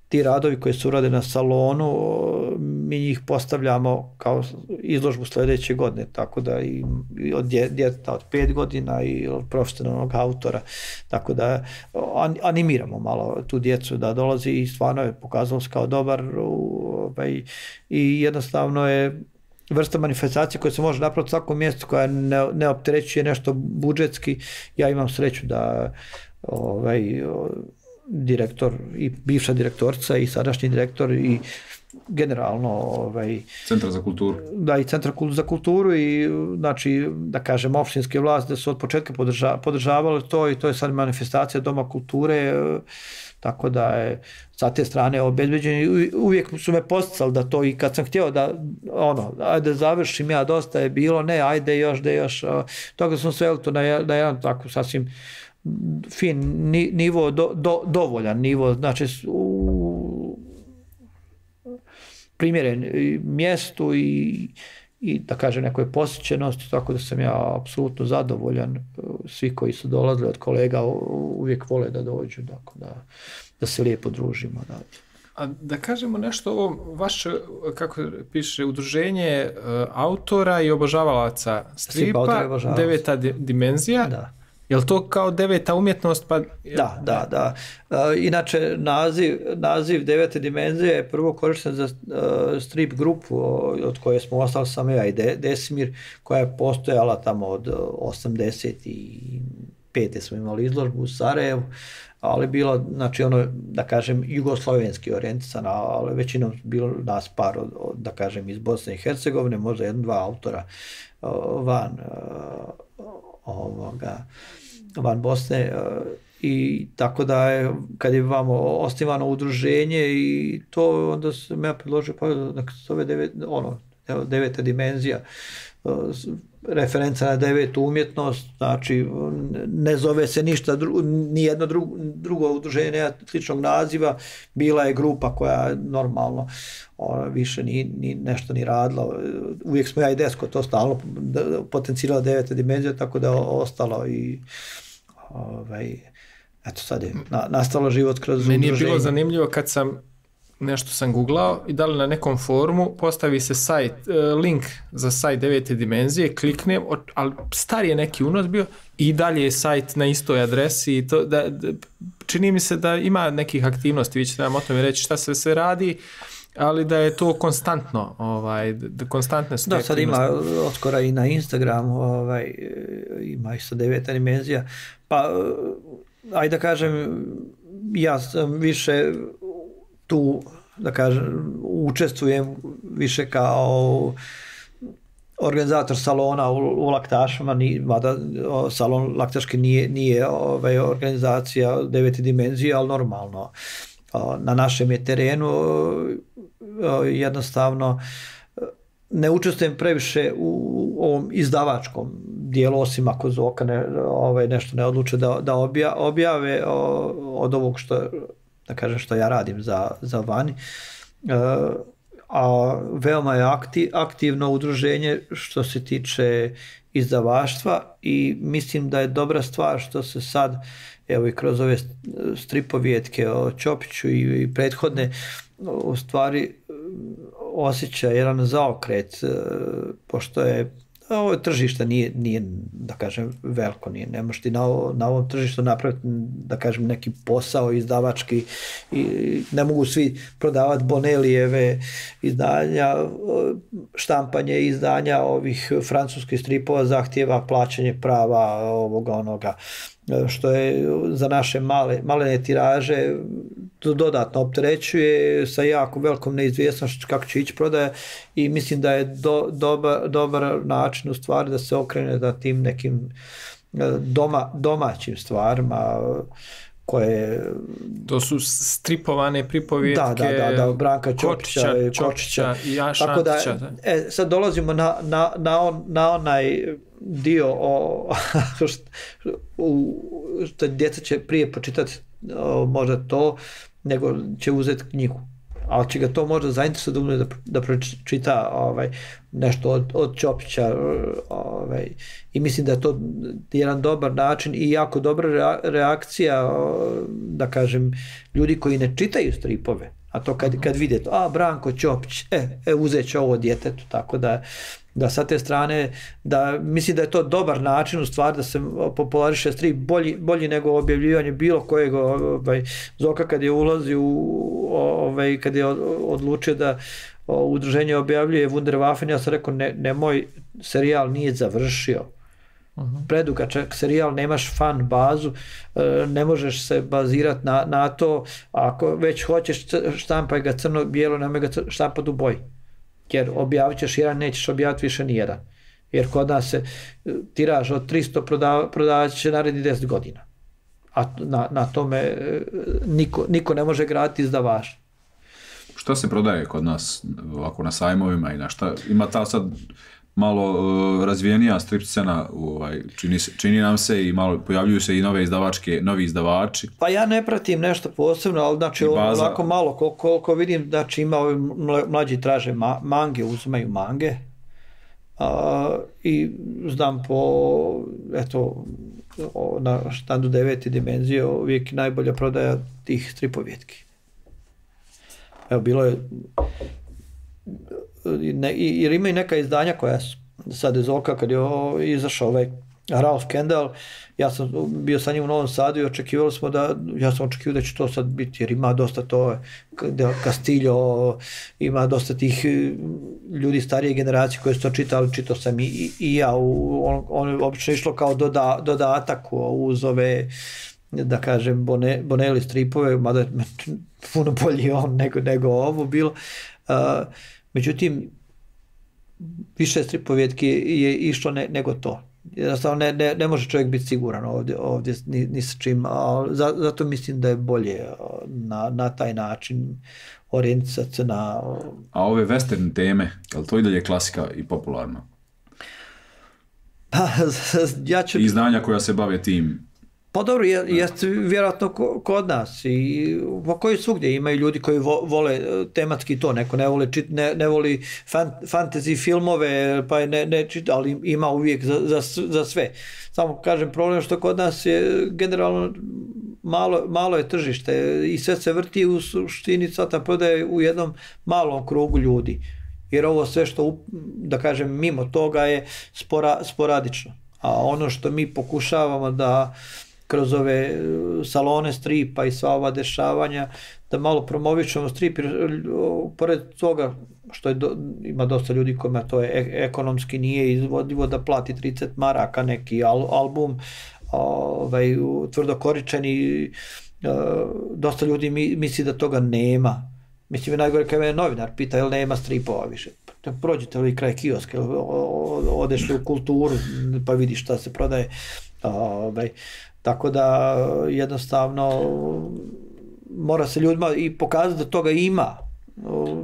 ti radovi koji su urade na salonu, mi njih postavljamo kao izložbu sljedeće godine, tako da i, i od djeteta od pet godina i od profesionalnog autora, tako da an, animiramo malo tu djecu da dolazi i stvarno je pokazalo se kao dobar ovaj, i jednostavno je vrsta manifestacije koja se može napraviti u svakom mjestu, koja ne, ne opterećuje nešto budžetski. Ja imam sreću da ovaj, direktor i bivša direktorica i sadašnji direktor i generalno ovaj Centar za kulturu. Da, i Centar za kulturu i znači da kažem opštinske vlasti da su od početka podrža, podržavali to i to je sad manifestacija Doma kulture, tako da je sa te strane obezbeđeni. Uvijek su me posticali da to i kad sam htio da ono, ajde završim ja, dosta je bilo, ne, ajde još, da još, toga sam sveli to na, na jedan tako sasvim fin nivo, do, do, dovoljan nivo, znači u primjeren mjestu i, i da kažem nekoj posjećenosti, tako da sam ja apsolutno zadovoljan. Svi koji su dolazili od kolega uvijek vole da dođu, tako da, da se lijepo družimo. Da. A da kažemo nešto o ovom vaše, kako piše, udruženje autora i obožavalaca stripa, deveta dimenzija. Da. Je li to kao deveta umjetnost? Pa... Da, da, da. Uh, inače, naziv, naziv devete dimenzije je prvo korišten za uh, strip grupu od koje smo ostali samo ja i De, Desimir, koja je postojala tamo od osamdeset pete smo imali izložbu u Sarajevu, ali bilo, znači ono, da kažem, jugoslavenski orijentisana, ali većinom bilo nas par, od, od, da kažem, iz Bosne i Hercegovine, možda jedan, dva autora uh, van uh, ovoga, van Bosne i tako da je, kad je vamo osnivano udruženje i to, onda sam ja predložio, pa nek se zove devet, ono, deveta dimenzija, referenca na devetu umjetnost, znači ne zove se ništa, dru, nijedno drugo, drugo udruženje nema sličnog naziva, bila je grupa koja normalno ona, više ni, ni nešto ni radila, uvijek smo ja i Desko to stalno potencijala deveta dimenzija, tako da je ostalo i ovaj, eto sad je na, nastalo život kroz Meni udruženje. Meni je bilo zanimljivo kad sam nešto sam googlao i da li na nekom forumu postavi se sajt, link za sajt devete dimenzije, kliknem, ali star je neki unos bio i dalje je sajt na istoj adresi i to da, da, čini mi se da ima nekih aktivnosti, vi ćete nam o tome reći šta se sve radi, ali da je to konstantno, ovaj, da konstantne su. Da, sad ima oskora i na Instagramu, ovaj, ima isto deveta dimenzija, pa ajde da kažem, ja sam više tu, da kažem, učestvujem više kao organizator salona u, u laktašama, ni, mada salon laktaški nije, nije ovaj, organizacija devete dimenzije, ali normalno. Na našem je terenu jednostavno ne učestvujem previše u ovom izdavačkom dijelu, osim ako Zoka ne, ovaj, nešto ne odluče da, da obja, objave o, od ovog što, da kažem, što ja radim za, za vani. E, a veoma je aktiv, aktivno udruženje što se tiče izdavaštva i mislim da je dobra stvar što se sad, evo i kroz ove stripovjetke o Ćopiću i, i prethodne, u stvari osjeća jedan zaokret, pošto je ovo tržište nije, nije, da kažem, veliko, nije, ne možeš ti na, na ovom tržištu napraviti, da kažem, neki posao izdavački i ne mogu svi prodavati Bonelijeve izdanja, štampanje izdanja ovih francuskih stripova zahtijeva plaćanje prava ovoga onoga, što je za naše male, malene tiraže dodatno opterećuje sa jako velikom neizvjesnošću kako će ići prodaja i mislim da je do, dobar, dobar način u stvari da se okrene da tim nekim doma, domaćim stvarima koje... To su stripovane pripovjetke, da, da, da, da, Branka Ćopića, Kočića, Kočića i Jaša tako da, Antića. Da. E, sad dolazimo na, na, na, on, na onaj dio o, što djeca će prije počitati o, možda to, nego će uzeti knjigu. Ali će ga to možda zainteresovati da, da pročita ovaj, nešto od, od Ćopića. Ovaj, I mislim da je to jedan dobar način i jako dobra reakcija, da kažem, ljudi koji ne čitaju stripove. A to kad, kad vidite, a Branko Ćopić, e, e uzet će ovo djetetu, tako da da sa te strane, da mislim da je to dobar način u stvari da se populariše strip bolji, bolji nego objavljivanje bilo kojeg ovaj, Zoka kad je ulazi u ovaj, kad je odlučio da o, udruženje objavljuje Wunderwaffen, ja sam rekao ne, nemoj, serijal nije završio. Uh-huh. Predugačak serijal, nemaš fan bazu, ne možeš se bazirati na, na to, ako već hoćeš štampaj ga crno-bijelo, nemoj ga štampati u boji. Jer objavit ćeš jedan, nećeš objaviti više nijedan. Jer kod nas se tiraž od tristo prodava, prodavat će naredni deset godina. A na, na tome niko, niko ne može graditi izdavač. Šta se prodaje kod nas ovako na sajmovima i na šta? Ima ta sad malo uh, razvijenija strip scena, ovaj, čini, čini nam se i malo pojavljuju se i nove izdavačke, novi izdavači. Pa ja ne pratim nešto posebno, ali znači ovako malo, koliko, koliko vidim, znači ima ovi mlađi traže ma, mange, uzimaju mange a, i znam po, eto, na štandu devete dimenzije uvijek najbolja prodaja tih stripovjetki. Evo, bilo je Ne, jer ima i neka izdanja koja su sad iz Zoka kad je izašao ovaj Ralph Kendall, ja sam bio sa njim u Novom Sadu i očekivali smo da, ja sam očekivao da će to sad biti, jer ima dosta to, Castillo, ima dosta tih ljudi starije generacije koji su to čitali, čitao sam i, i, i ja, u, on, on je obično išlo kao doda, dodatak uz ove, da kažem, Bone, Bonelli stripove, mada je puno bolji on nego, nego ovo bilo. Uh, Međutim, više stripovjetki je išlo ne, nego to. Jednostavno ne, ne, ne može čovjek biti siguran ovdje, ovdje ni, ni sa čim, ali zato mislim da je bolje na, na taj način orijentisati se na... A ove western teme, je li to i dalje klasika i popularno? Pa, ja ću... Izdanja koja se bave tim... Pa dobro, je, jest vjerojatno kod nas i po koji svugdje imaju ljudi koji vo, vole tematski to, neko ne voli, čit, ne, ne voli fan, fantasy filmove, pa ne, ne čita, ali ima uvijek za, za, za sve. Samo kažem, problem što kod nas je generalno malo, malo je tržište i sve se vrti u suštini, sad ta prodaje u jednom malom krugu ljudi. Jer ovo sve što, da kažem, mimo toga je spora, sporadično. A ono što mi pokušavamo da kroz ove salone stripa i sva ova dešavanja, da malo promovićemo strip, jer pored toga što je do, ima dosta ljudi kojima to je ekonomski nije izvodivo da plati trideset maraka neki al, album, ovaj, tvrdokoričeni, dosta ljudi mi, misli da toga nema. Mislim, najgore kada me novinar pita, jel nema stripova više. Prođete li kraj kioske, odeš u kulturu, pa vidiš šta se prodaje. Ovaj, tako da jednostavno mora se ljudima i pokazati da toga ima.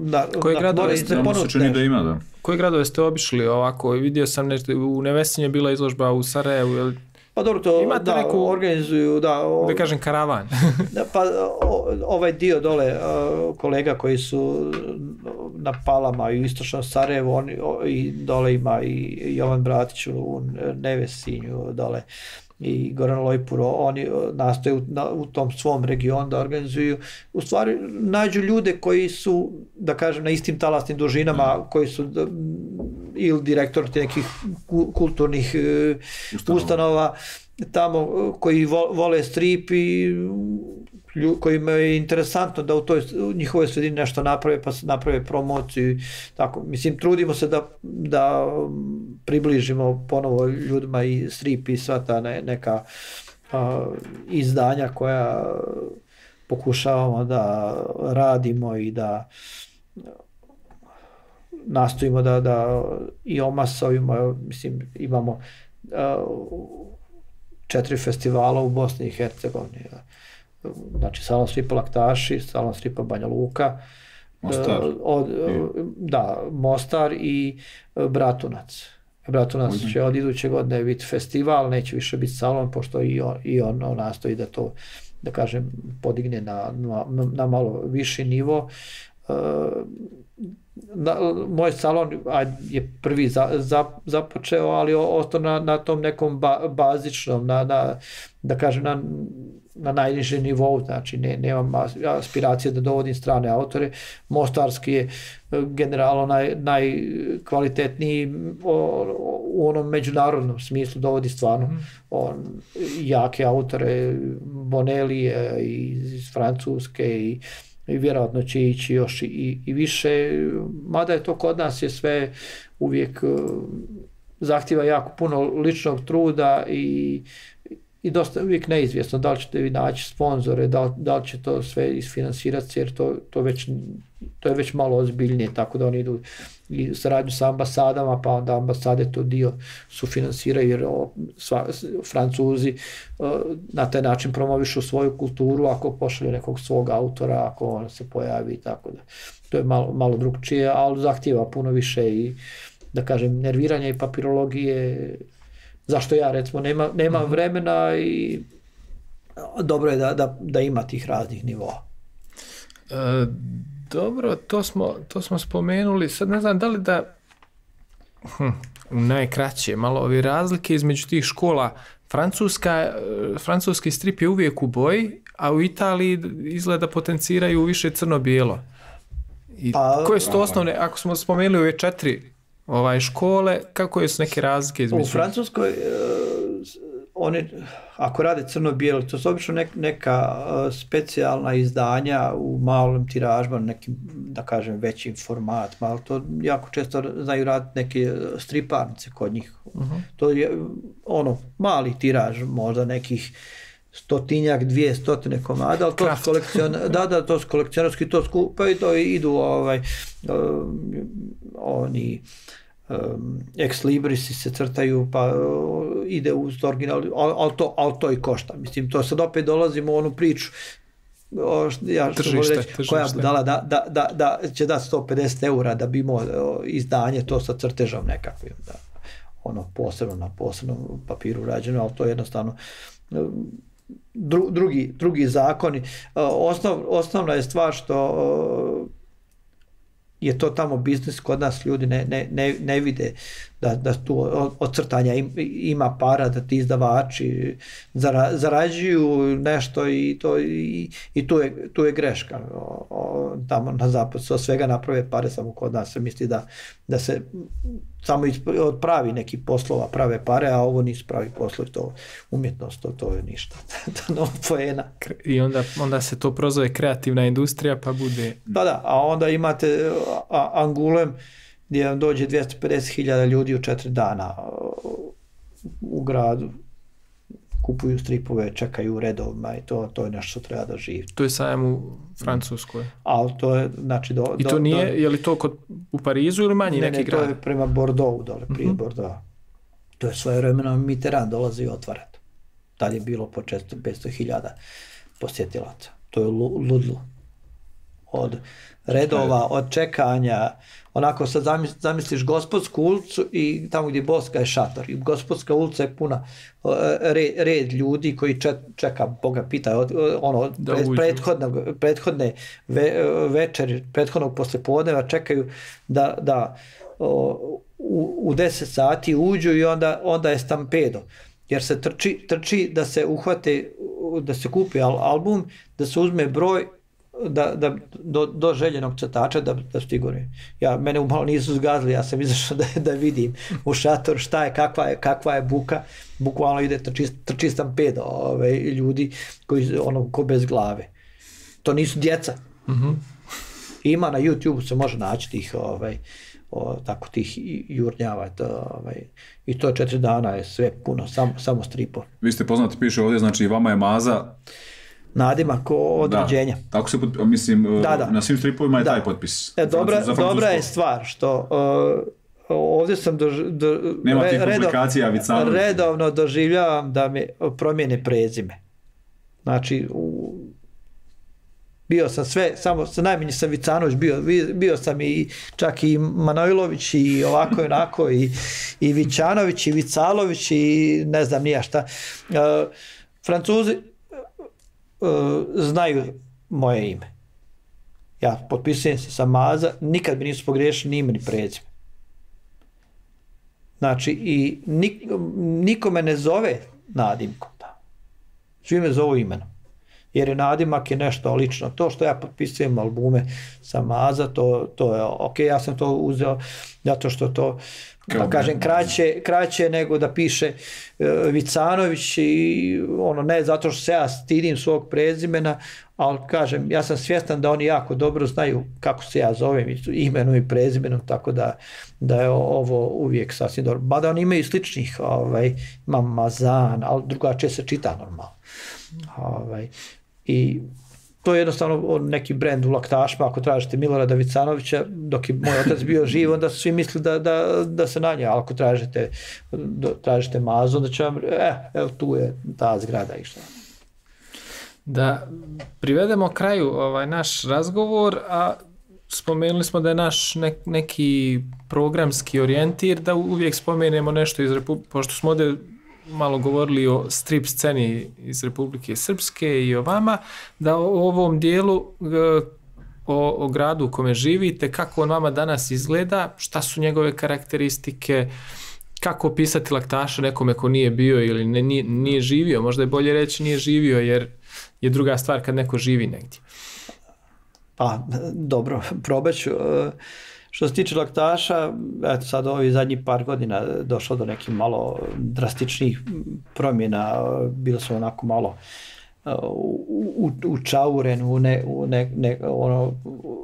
Da, Koje da, gradove ste ponuti da ima, da. Koje gradove ste obišli ovako? Vidio sam nešto, u Nevesinju je bila izložba u Sarajevu, jel? Pa dobro, to imate da, neku, organizuju, da, o, da kažem, karavan. da, pa o, ovaj dio dole o, kolega koji su na Palama i u istočnom Sarajevu, oni, o, i dole ima i Jovan Bratić u Nevesinju dole i Goran Lojpuro, oni nastoje u, na, u tom svom regionu da organizuju, u stvari nađu ljude koji su, da kažem, na istim talasnim dužinama, koji su da, ili direktor nekih kulturnih ustanova, ustanova tamo koji vole strip i kojima je interesantno da u toj u njihovoj sredini nešto naprave, pa naprave promociju. Tako, mislim, trudimo se da, da približimo ponovo ljudima i strip i sva ta neka a, izdanja koja pokušavamo da radimo i da nastojimo da, da i omasovimo, mislim, imamo a, četiri festivala u Bosni i Hercegovini. Znači Salon stripa Laktaši, Salon stripa Banja Luka, Mostar. Od, da, Mostar i Bratunac. Bratunac mm-hmm. će od iduće godine biti festival, neće više biti salon, pošto i on, i on, on nastoji da to, da kažem, podigne na, na, na malo viši nivo. Na, moj salon je prvi za, za, započeo, ali ostao na, na tom nekom ba, bazičnom, na, na, da kažem, na na najnižem nivou, znači ne, nemam aspiracije da dovodim strane autore. Mostarski je generalno naj, najkvalitetniji o, u onom međunarodnom smislu, dovodi stvarno mm. on, jake autore, Bonelli iz Francuske i, i vjerojatno će ići još i, i više, mada je to kod nas je sve uvijek zahtjeva jako puno ličnog truda i i dosta uvijek neizvjesno da li ćete vi naći sponzore, da li, da li će to sve isfinansirati, jer to, to, već, to je već malo ozbiljnije, tako da oni idu i saradnju sa ambasadama, pa onda ambasade to dio sufinansiraju, jer o, sva, Francuzi o, na taj način promovišu svoju kulturu ako pošalju nekog svog autora, ako on se pojavi, tako da to je malo, malo drugčije, ali zahtijeva puno više i, da kažem, nerviranja i papirologije, zašto ja recimo nema, nema mm-hmm. vremena i dobro je da, da, da ima tih raznih nivoa. E, dobro, to smo, to smo spomenuli, sad ne znam da li da hm, najkraće malo ove razlike između tih škola. Francuska, francuski strip je uvijek u boji, a u Italiji izgleda potenciraju više crno-bijelo. I pa, koje su to osnovne, ako smo spomenuli ove četiri ovaj škole, kako su neke razlike između? U Francuskoj uh, oni, ako rade crno-bijelo, to su obično nek, neka uh, specijalna izdanja u malom tiražima, nekim, da kažem, većim formatima, ali to jako često znaju raditi neke striparnice kod njih. Uh-huh. To je ono, mali tiraž, možda nekih stotinjak, dvije stotine komada, ali to su kolekcion, da, da, to su kolekcionarski, to skupaju i to idu ovaj, um, oni um, ex librisi se crtaju, pa uh, ide uz original, ali, ali, to, ali to i košta. Mislim, to sad opet dolazimo u onu priču, o, ja što tržište, reći, tržište. koja bi dala da, da, da, da će dati sto pedeset eura da bi imao izdanje to sa crtežom nekakvim, da, ono posebno na posebnom papiru rađeno, ali to je jednostavno um, Dru, drugi, drugi zakoni. Osnov, osnovna je stvar što je to tamo biznis, kod nas ljudi ne, ne, ne, ne vide da, da tu ocrtanja ima para, da ti izdavači zara, zarađuju nešto i, to, i, i tu, je, tu je greška. O, o, tamo na zapadu se od svega naprave pare, samo kod nas se misli da, da se samo od pravi neki poslova prave pare, a ovo nisu pravi poslovi, to umjetnost, to, to je ništa. to no poena. I onda, onda se to prozove kreativna industrija, pa bude... Da, da, a onda imate a, Angulem, gdje vam dođe dvjesto pedeset hiljada ljudi u četiri dana u gradu, kupuju stripove, čekaju u redovima i to, to je nešto što treba da živi. To je sajam u Francuskoj. Ali to je, znači... Do, I to do, nije, do, je li to kod, u Parizu ili manji ne, neki ne, grad? Ne, to je prema Bordeauxu dole, prije uh-huh. Bordeauxa. To je svoje vremeno Mitterrand dolazi i otvara to. Tad je bilo po četiristo do petsto hiljada posjetilaca. To je ludlo. Od redova, od čekanja, onako sad zamisliš Gospodsku ulicu i tamo gdje Boska je šator. I Gospodska ulica je puna red, red ljudi koji čeka, Boga pita, ono, prethodnog, prethodne ve, večeri, prethodnog poslijepodneva čekaju da, da o, u, u deset sati uđu i onda, onda je stampedo. Jer se trči, trči da se uhvate, da se kupi al, album, da se uzme broj da, da, do, do željenog crtača da, da stiguri. Ja, mene umalo nisu zgazili, ja sam izašao da, da vidim u šator šta je, kakva je, kakva je buka, bukvalno ide trči, trči stampedo ove, ljudi koji, ono, ko bez glave. To nisu djeca. Mm-hmm. Ima na YouTube se može naći tih, ovaj, o, tako tih jurnjava, to, ovaj, i to četiri dana je sve puno, sam, samo stripo. Vi ste poznati, piše ovdje, znači vama je Maza nadimak od da, rođenja. Tako se, mislim, da, da. na svim stripovima je da. taj potpis. E, dobra, dobra je stvar što uh, ovdje sam do, do, Nema re, tih komplikacija, redov, redovno doživljavam da mi promijene prezime. Znači, u, bio sam sve, samo najmanje sam Vicanović, bio, bio sam i čak i Manojlović i ovako i onako i, i Vićanović i Vicalović i ne znam nija šta. Uh, Francuzi uh, znaju moje ime. Ja potpisujem se sa Maza, nikad mi nisu pogriješili ni ime ni prezime. Znači, i nik, niko me ne zove nadimkom. Da. Svi me zovu imenom. Jer je nadimak je nešto lično. To što ja potpisujem albume sa Maza, to, to je ok, ja sam to uzeo zato što to, da kažem, kraće, kraće nego da piše uh, Vicanović i ono, ne zato što se ja stidim svog prezimena, ali kažem, ja sam svjestan da oni jako dobro znaju kako se ja zovem, imenom i prezimenom, tako da, da je ovo uvijek sasvim dobro. Mada oni imaju sličnih, ovaj, imam Mazan, ali drugačije se čita normalno. Ovaj, i to je jednostavno neki brend u laktašima, ako tražite Milorada Vicanovića, dok je moj otac bio živ, onda su svi mislili da, da, da se na nje, ali ako tražite, tražite Mazu, onda će vam, eh, evo tu je ta zgrada i šta. Da privedemo kraju ovaj naš razgovor, a spomenuli smo da je naš ne, neki programski orijentir, da uvijek spomenemo nešto iz Republike, pošto smo ovdje malo govorili o strip sceni iz Republike Srpske i o vama, da o ovom dijelu, o, o gradu u kome živite, kako on vama danas izgleda, šta su njegove karakteristike, kako opisati laktaša nekome ko nije bio ili ne, nije, nije živio, možda je bolje reći nije živio, jer je druga stvar kad neko živi negdje. Pa, dobro, probaću. Što se tiče laktaša, eto sad ovi zadnji par godina došlo do nekih malo drastičnih promjena, bilo smo onako malo u, u, u čauren, u ne, u ne, ne, ono,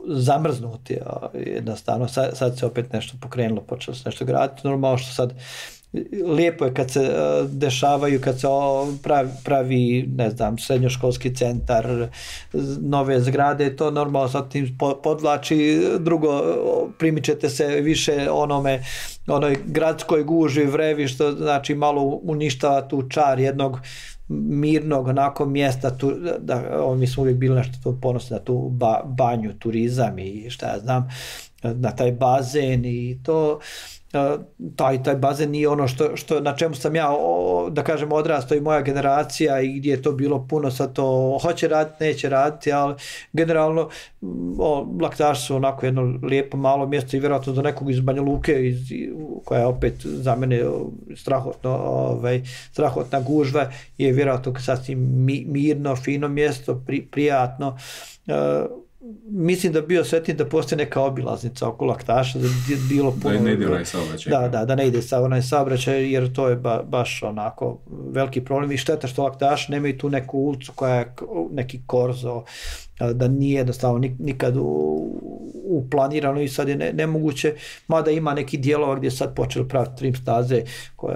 zamrznuti jednostavno. Sad, sad se opet nešto pokrenulo, počelo se nešto graditi. Normalno što sad lijepo je kad se uh, dešavaju, kad se pravi, pravi, ne znam, srednjoškolski centar, nove zgrade, to normalno sad tim podvlači, drugo primičete se više onome, onoj gradskoj guži, vrevi, što znači malo uništava tu čar jednog mirnog onako mjesta, tu, da, o, mi smo uvijek bili nešto to ponosni na tu ba, banju, turizam i šta ja znam, na taj bazen i to. taj, taj bazen nije ono što, što, na čemu sam ja, da kažem, odrastao i moja generacija i gdje je to bilo puno, sad to hoće raditi, neće raditi, ali generalno o, Laktaši su onako jedno lijepo malo mjesto i vjerojatno do nekog iz Banja Luke, iz, koja je opet za mene strahotno, ovaj, strahotna gužva, je vjerojatno sasvim mi, mirno, fino mjesto, pri, prijatno. Uh, Mislim da bi bio sretni da postoji neka obilaznica oko Laktaša, da bi bilo puno... Da ne ide onaj saobraćaj. Da, da, da ne ide sa onaj saobraćaj, jer to je ba, baš onako veliki problem i šteta što Laktaši nemaju tu neku ulicu koja je neki korzo, da nije jednostavno nikad uplanirano i sad je ne, nemoguće, mada ima neki dijelova gdje sad počeli praviti trim staze koje,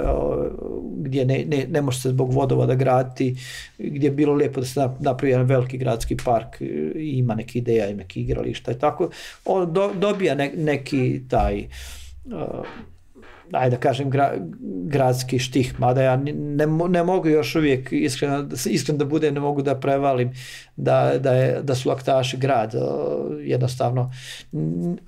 gdje ne, ne, ne može se zbog vodovoda graditi, gdje je bilo lijepo da se napravi jedan veliki gradski park i ima neke ideja i neki igrališta i tako. On do, dobija ne, neki taj uh, ajde da kažem gra, gradski štih, mada ja ne, ne mogu još uvijek iskreno, iskreno da budem, ne mogu da prevalim da, da, je, da su Laktaši grad, jednostavno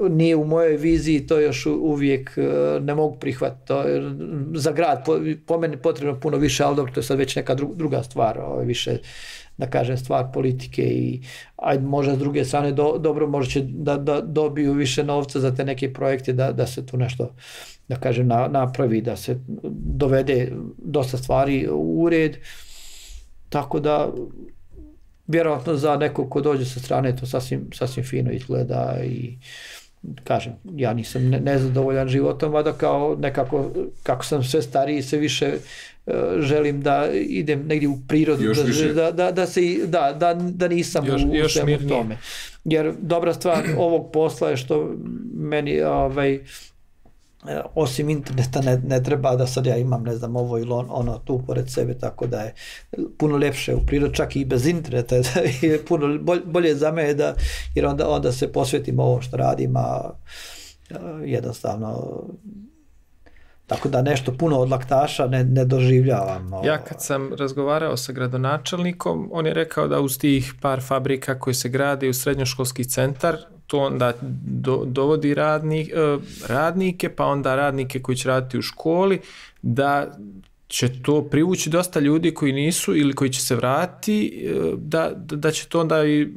nije u mojoj viziji, to još uvijek ne mogu prihvatiti, to je, za grad po, po meni potrebno puno više, ali dobro, to je sad već neka druga stvar, više da kažem stvar politike i ajde možda s druge strane do, dobro možda će da, da dobiju više novca za te neke projekte da, da se tu nešto da kažem na, napravi, da se dovede dosta stvari u red, tako da vjerojatno za nekog ko dođe sa strane to sasvim, sasvim fino izgleda i kažem, ja nisam ne, nezadovoljan životom, a da kao nekako, kako sam sve stariji, sve više uh, želim da idem negdje u prirodu, da, da, da, da, se, da, da, da nisam još, u, još u svemu tome. Jer dobra stvar ovog posla je što meni ovaj, osim interneta ne, ne treba da sad ja imam ne znam ovo ili on, ono tu pored sebe, tako da je puno ljepše u prirodi, čak i bez interneta je puno bolje, bolje za mene da, jer onda, onda se posvetim ovo što radim, a jednostavno tako da nešto puno od Laktaša ne, ne doživljavam. Ja kad sam razgovarao sa gradonačelnikom, on je rekao da uz tih par fabrika koji se grade u srednjoškolski centar, to onda do, dovodi radnik, radnike, pa onda radnike koji će raditi u školi, da će to privući dosta ljudi koji nisu ili koji će se vratiti, da, da će to onda i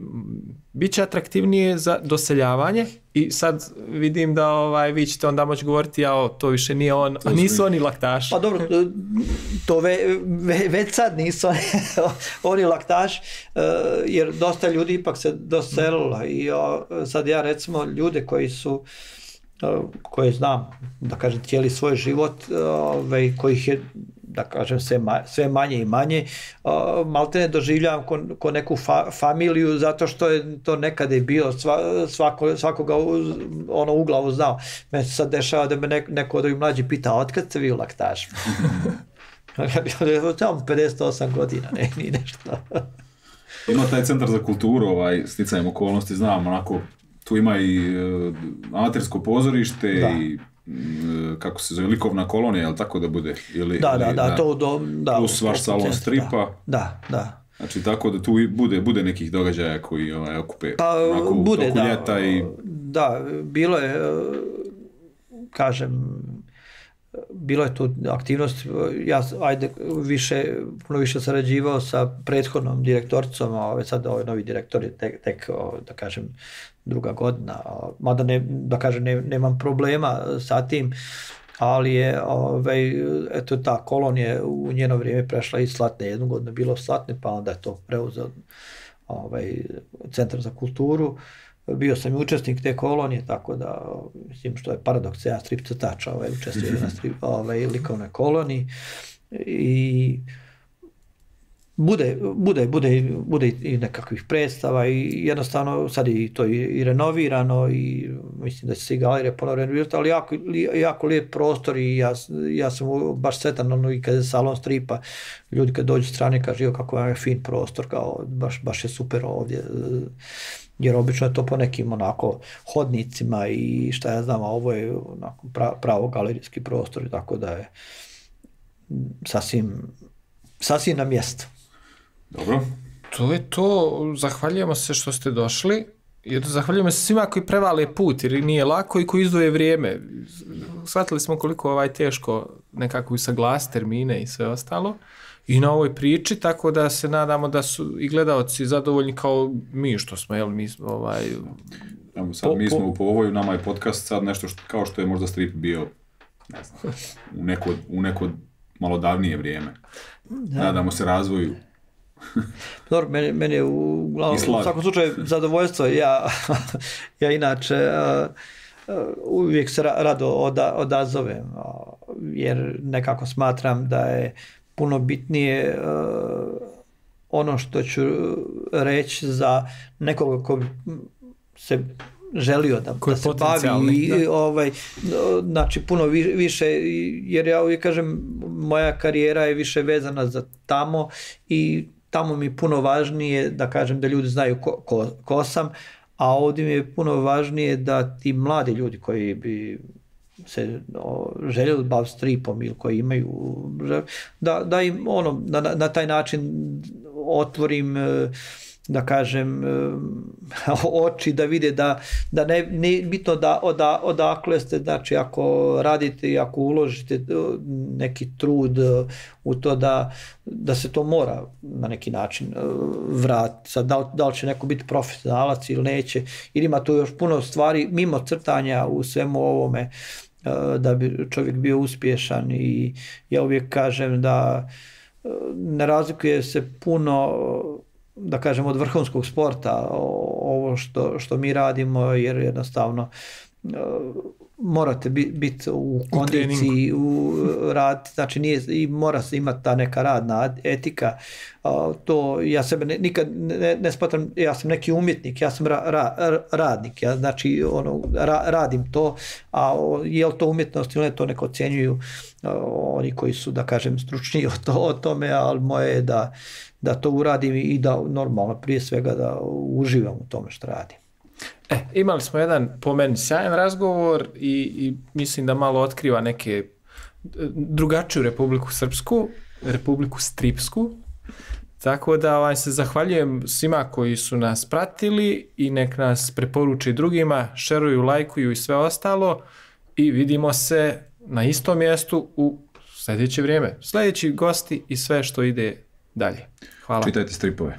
bit će atraktivnije za doseljavanje i sad vidim da ovaj, vi ćete onda moći govoriti ja, to više nije on, a nisu oni Laktaši. Pa dobro, to ve, ve, već sad nisu oni Laktaši, jer dosta ljudi ipak se doselilo i sad ja recimo ljude koji su koje znam, da kažem, cijeli svoj život, ovaj, kojih je, da kažem, sve, ma, sve manje i manje, uh, malte ne doživljavam ko, ko neku fa, familiju, zato što je to nekada je bio, sva, svako, svakoga u, ono u glavu znao. Meni se sad dešava da me ne, neko od ovih mlađi pita, otkad ste vi u Laktašu? Tamo pedeset osam godina, ne, ni nešto. Ima taj centar za kulturu, ovaj, sticajem okolnosti, znam, onako, tu ima i uh, amatersko pozorište da. I uh, kako se zove, likovna kolonija, jel tako da bude? Ili, da, ili, da, da, da, to do, da. Plus vaš salon stripa. Da, da. Znači tako da tu bude, bude nekih događaja koji ovaj, okupe pa, onako, bude, toku da, ljeta i... Da, bilo je, kažem, bilo je tu aktivnost, ja ajde više, puno više sarađivao sa prethodnom direktoricom, a ovaj sad ovaj novi direktor je tek, tek da kažem, druga godina, mada ne, da kažem, ne, nemam problema sa tim, ali je ovaj, eto, ta kolonija u njeno vrijeme prešla iz Slatne, jednu godinu bilo Slatne, pa onda je to preuzeo ovaj, Centar za kulturu. Bio sam i učesnik te kolonije, tako da, mislim, što je paradoks, ja strip crtač, ovaj, učestvuje na strip, ovaj, likovnoj koloniji i bude, bude, bude, bude i nekakvih predstava i jednostavno sad je to i, i renovirano i mislim da će se i galerije ponovno renovirati, ali jako, jako lijep prostor i ja, ja sam baš sretan, ono, i kad je salon stripa, ljudi kad dođu strane kažu kako je fin prostor, kao, baš, baš je super ovdje, jer obično je to po nekim onako hodnicima i šta ja znam, a ovo je onako pra, pravo galerijski prostor, tako da je sasvim, sasvim na mjestu. Dobro. To je to, zahvaljujemo se što ste došli. Jer zahvaljujemo se svima koji prevale put, jer nije lako i koji izdvoje vrijeme. Shvatili smo koliko ovaj teško nekako usaglasiti termine i sve ostalo. I na ovoj priči, tako da se nadamo da su i gledaoci zadovoljni kao mi što smo, jel, mi smo ovaj... Evo sad, po, mi smo po... u povoju, nama je podcast sad nešto što, kao što je možda strip bio, ne znam, u neko, u neko malo davnije vrijeme. Da. Nadamo se razvoju. Dobro, meni, meni je u, u svakom slučaju zadovoljstvo. Ja, ja inače uh, uh, uvijek se rado oda, odazovem, uh, jer nekako smatram da je puno bitnije uh, ono što ću reći za nekoga ko bi se želio da, da se bavi i, ovaj, znači puno više, jer ja uvijek kažem moja karijera je više vezana za tamo i tamo mi je puno važnije da kažem da ljudi znaju ko, ko, ko sam, a ovdje mi je puno važnije da ti mladi ljudi koji bi se o, željeli baviti stripom ili koji imaju, da, da im ono, na, na taj način otvorim, da kažem, oči, da vide da, da ne, ne bitno da oda, odakle ste, znači ako radite i ako uložite neki trud u to da, da se to mora na neki način vratiti. Sad, da, li, da li će neko biti profesionalac ili neće, ili ima tu još puno stvari mimo crtanja u svemu ovome da bi čovjek bio uspješan i ja uvijek kažem da ne razlikuje se puno, da kažem, od vrhunskog sporta ovo što, što mi radimo, jer jednostavno morate biti u kondiciji, u rad, znači nije, i mora se imati ta neka radna etika. To ja sebe ne, nikad ne, ne smatram, ja sam neki umjetnik, ja sam ra, ra, radnik, ja znači ono, ra, radim to, a je li to umjetnost ili ne, to neko ocjenjuju oni koji su, da kažem, stručniji o, to, o tome, ali moje je da, da to uradim i da normalno prije svega da uživam u tome što radim. E, imali smo jedan po meni sjajan razgovor i, i mislim da malo otkriva neke drugačiju Republiku Srpsku, Republiku Stripsku, tako da ovaj, se zahvaljujem svima koji su nas pratili i nek nas preporuči drugima, šeruju, lajkuju i sve ostalo i vidimo se na istom mjestu u sljedeće vrijeme. Sljedeći gosti i sve što ide dalje. Hvala. Čitajte stripove.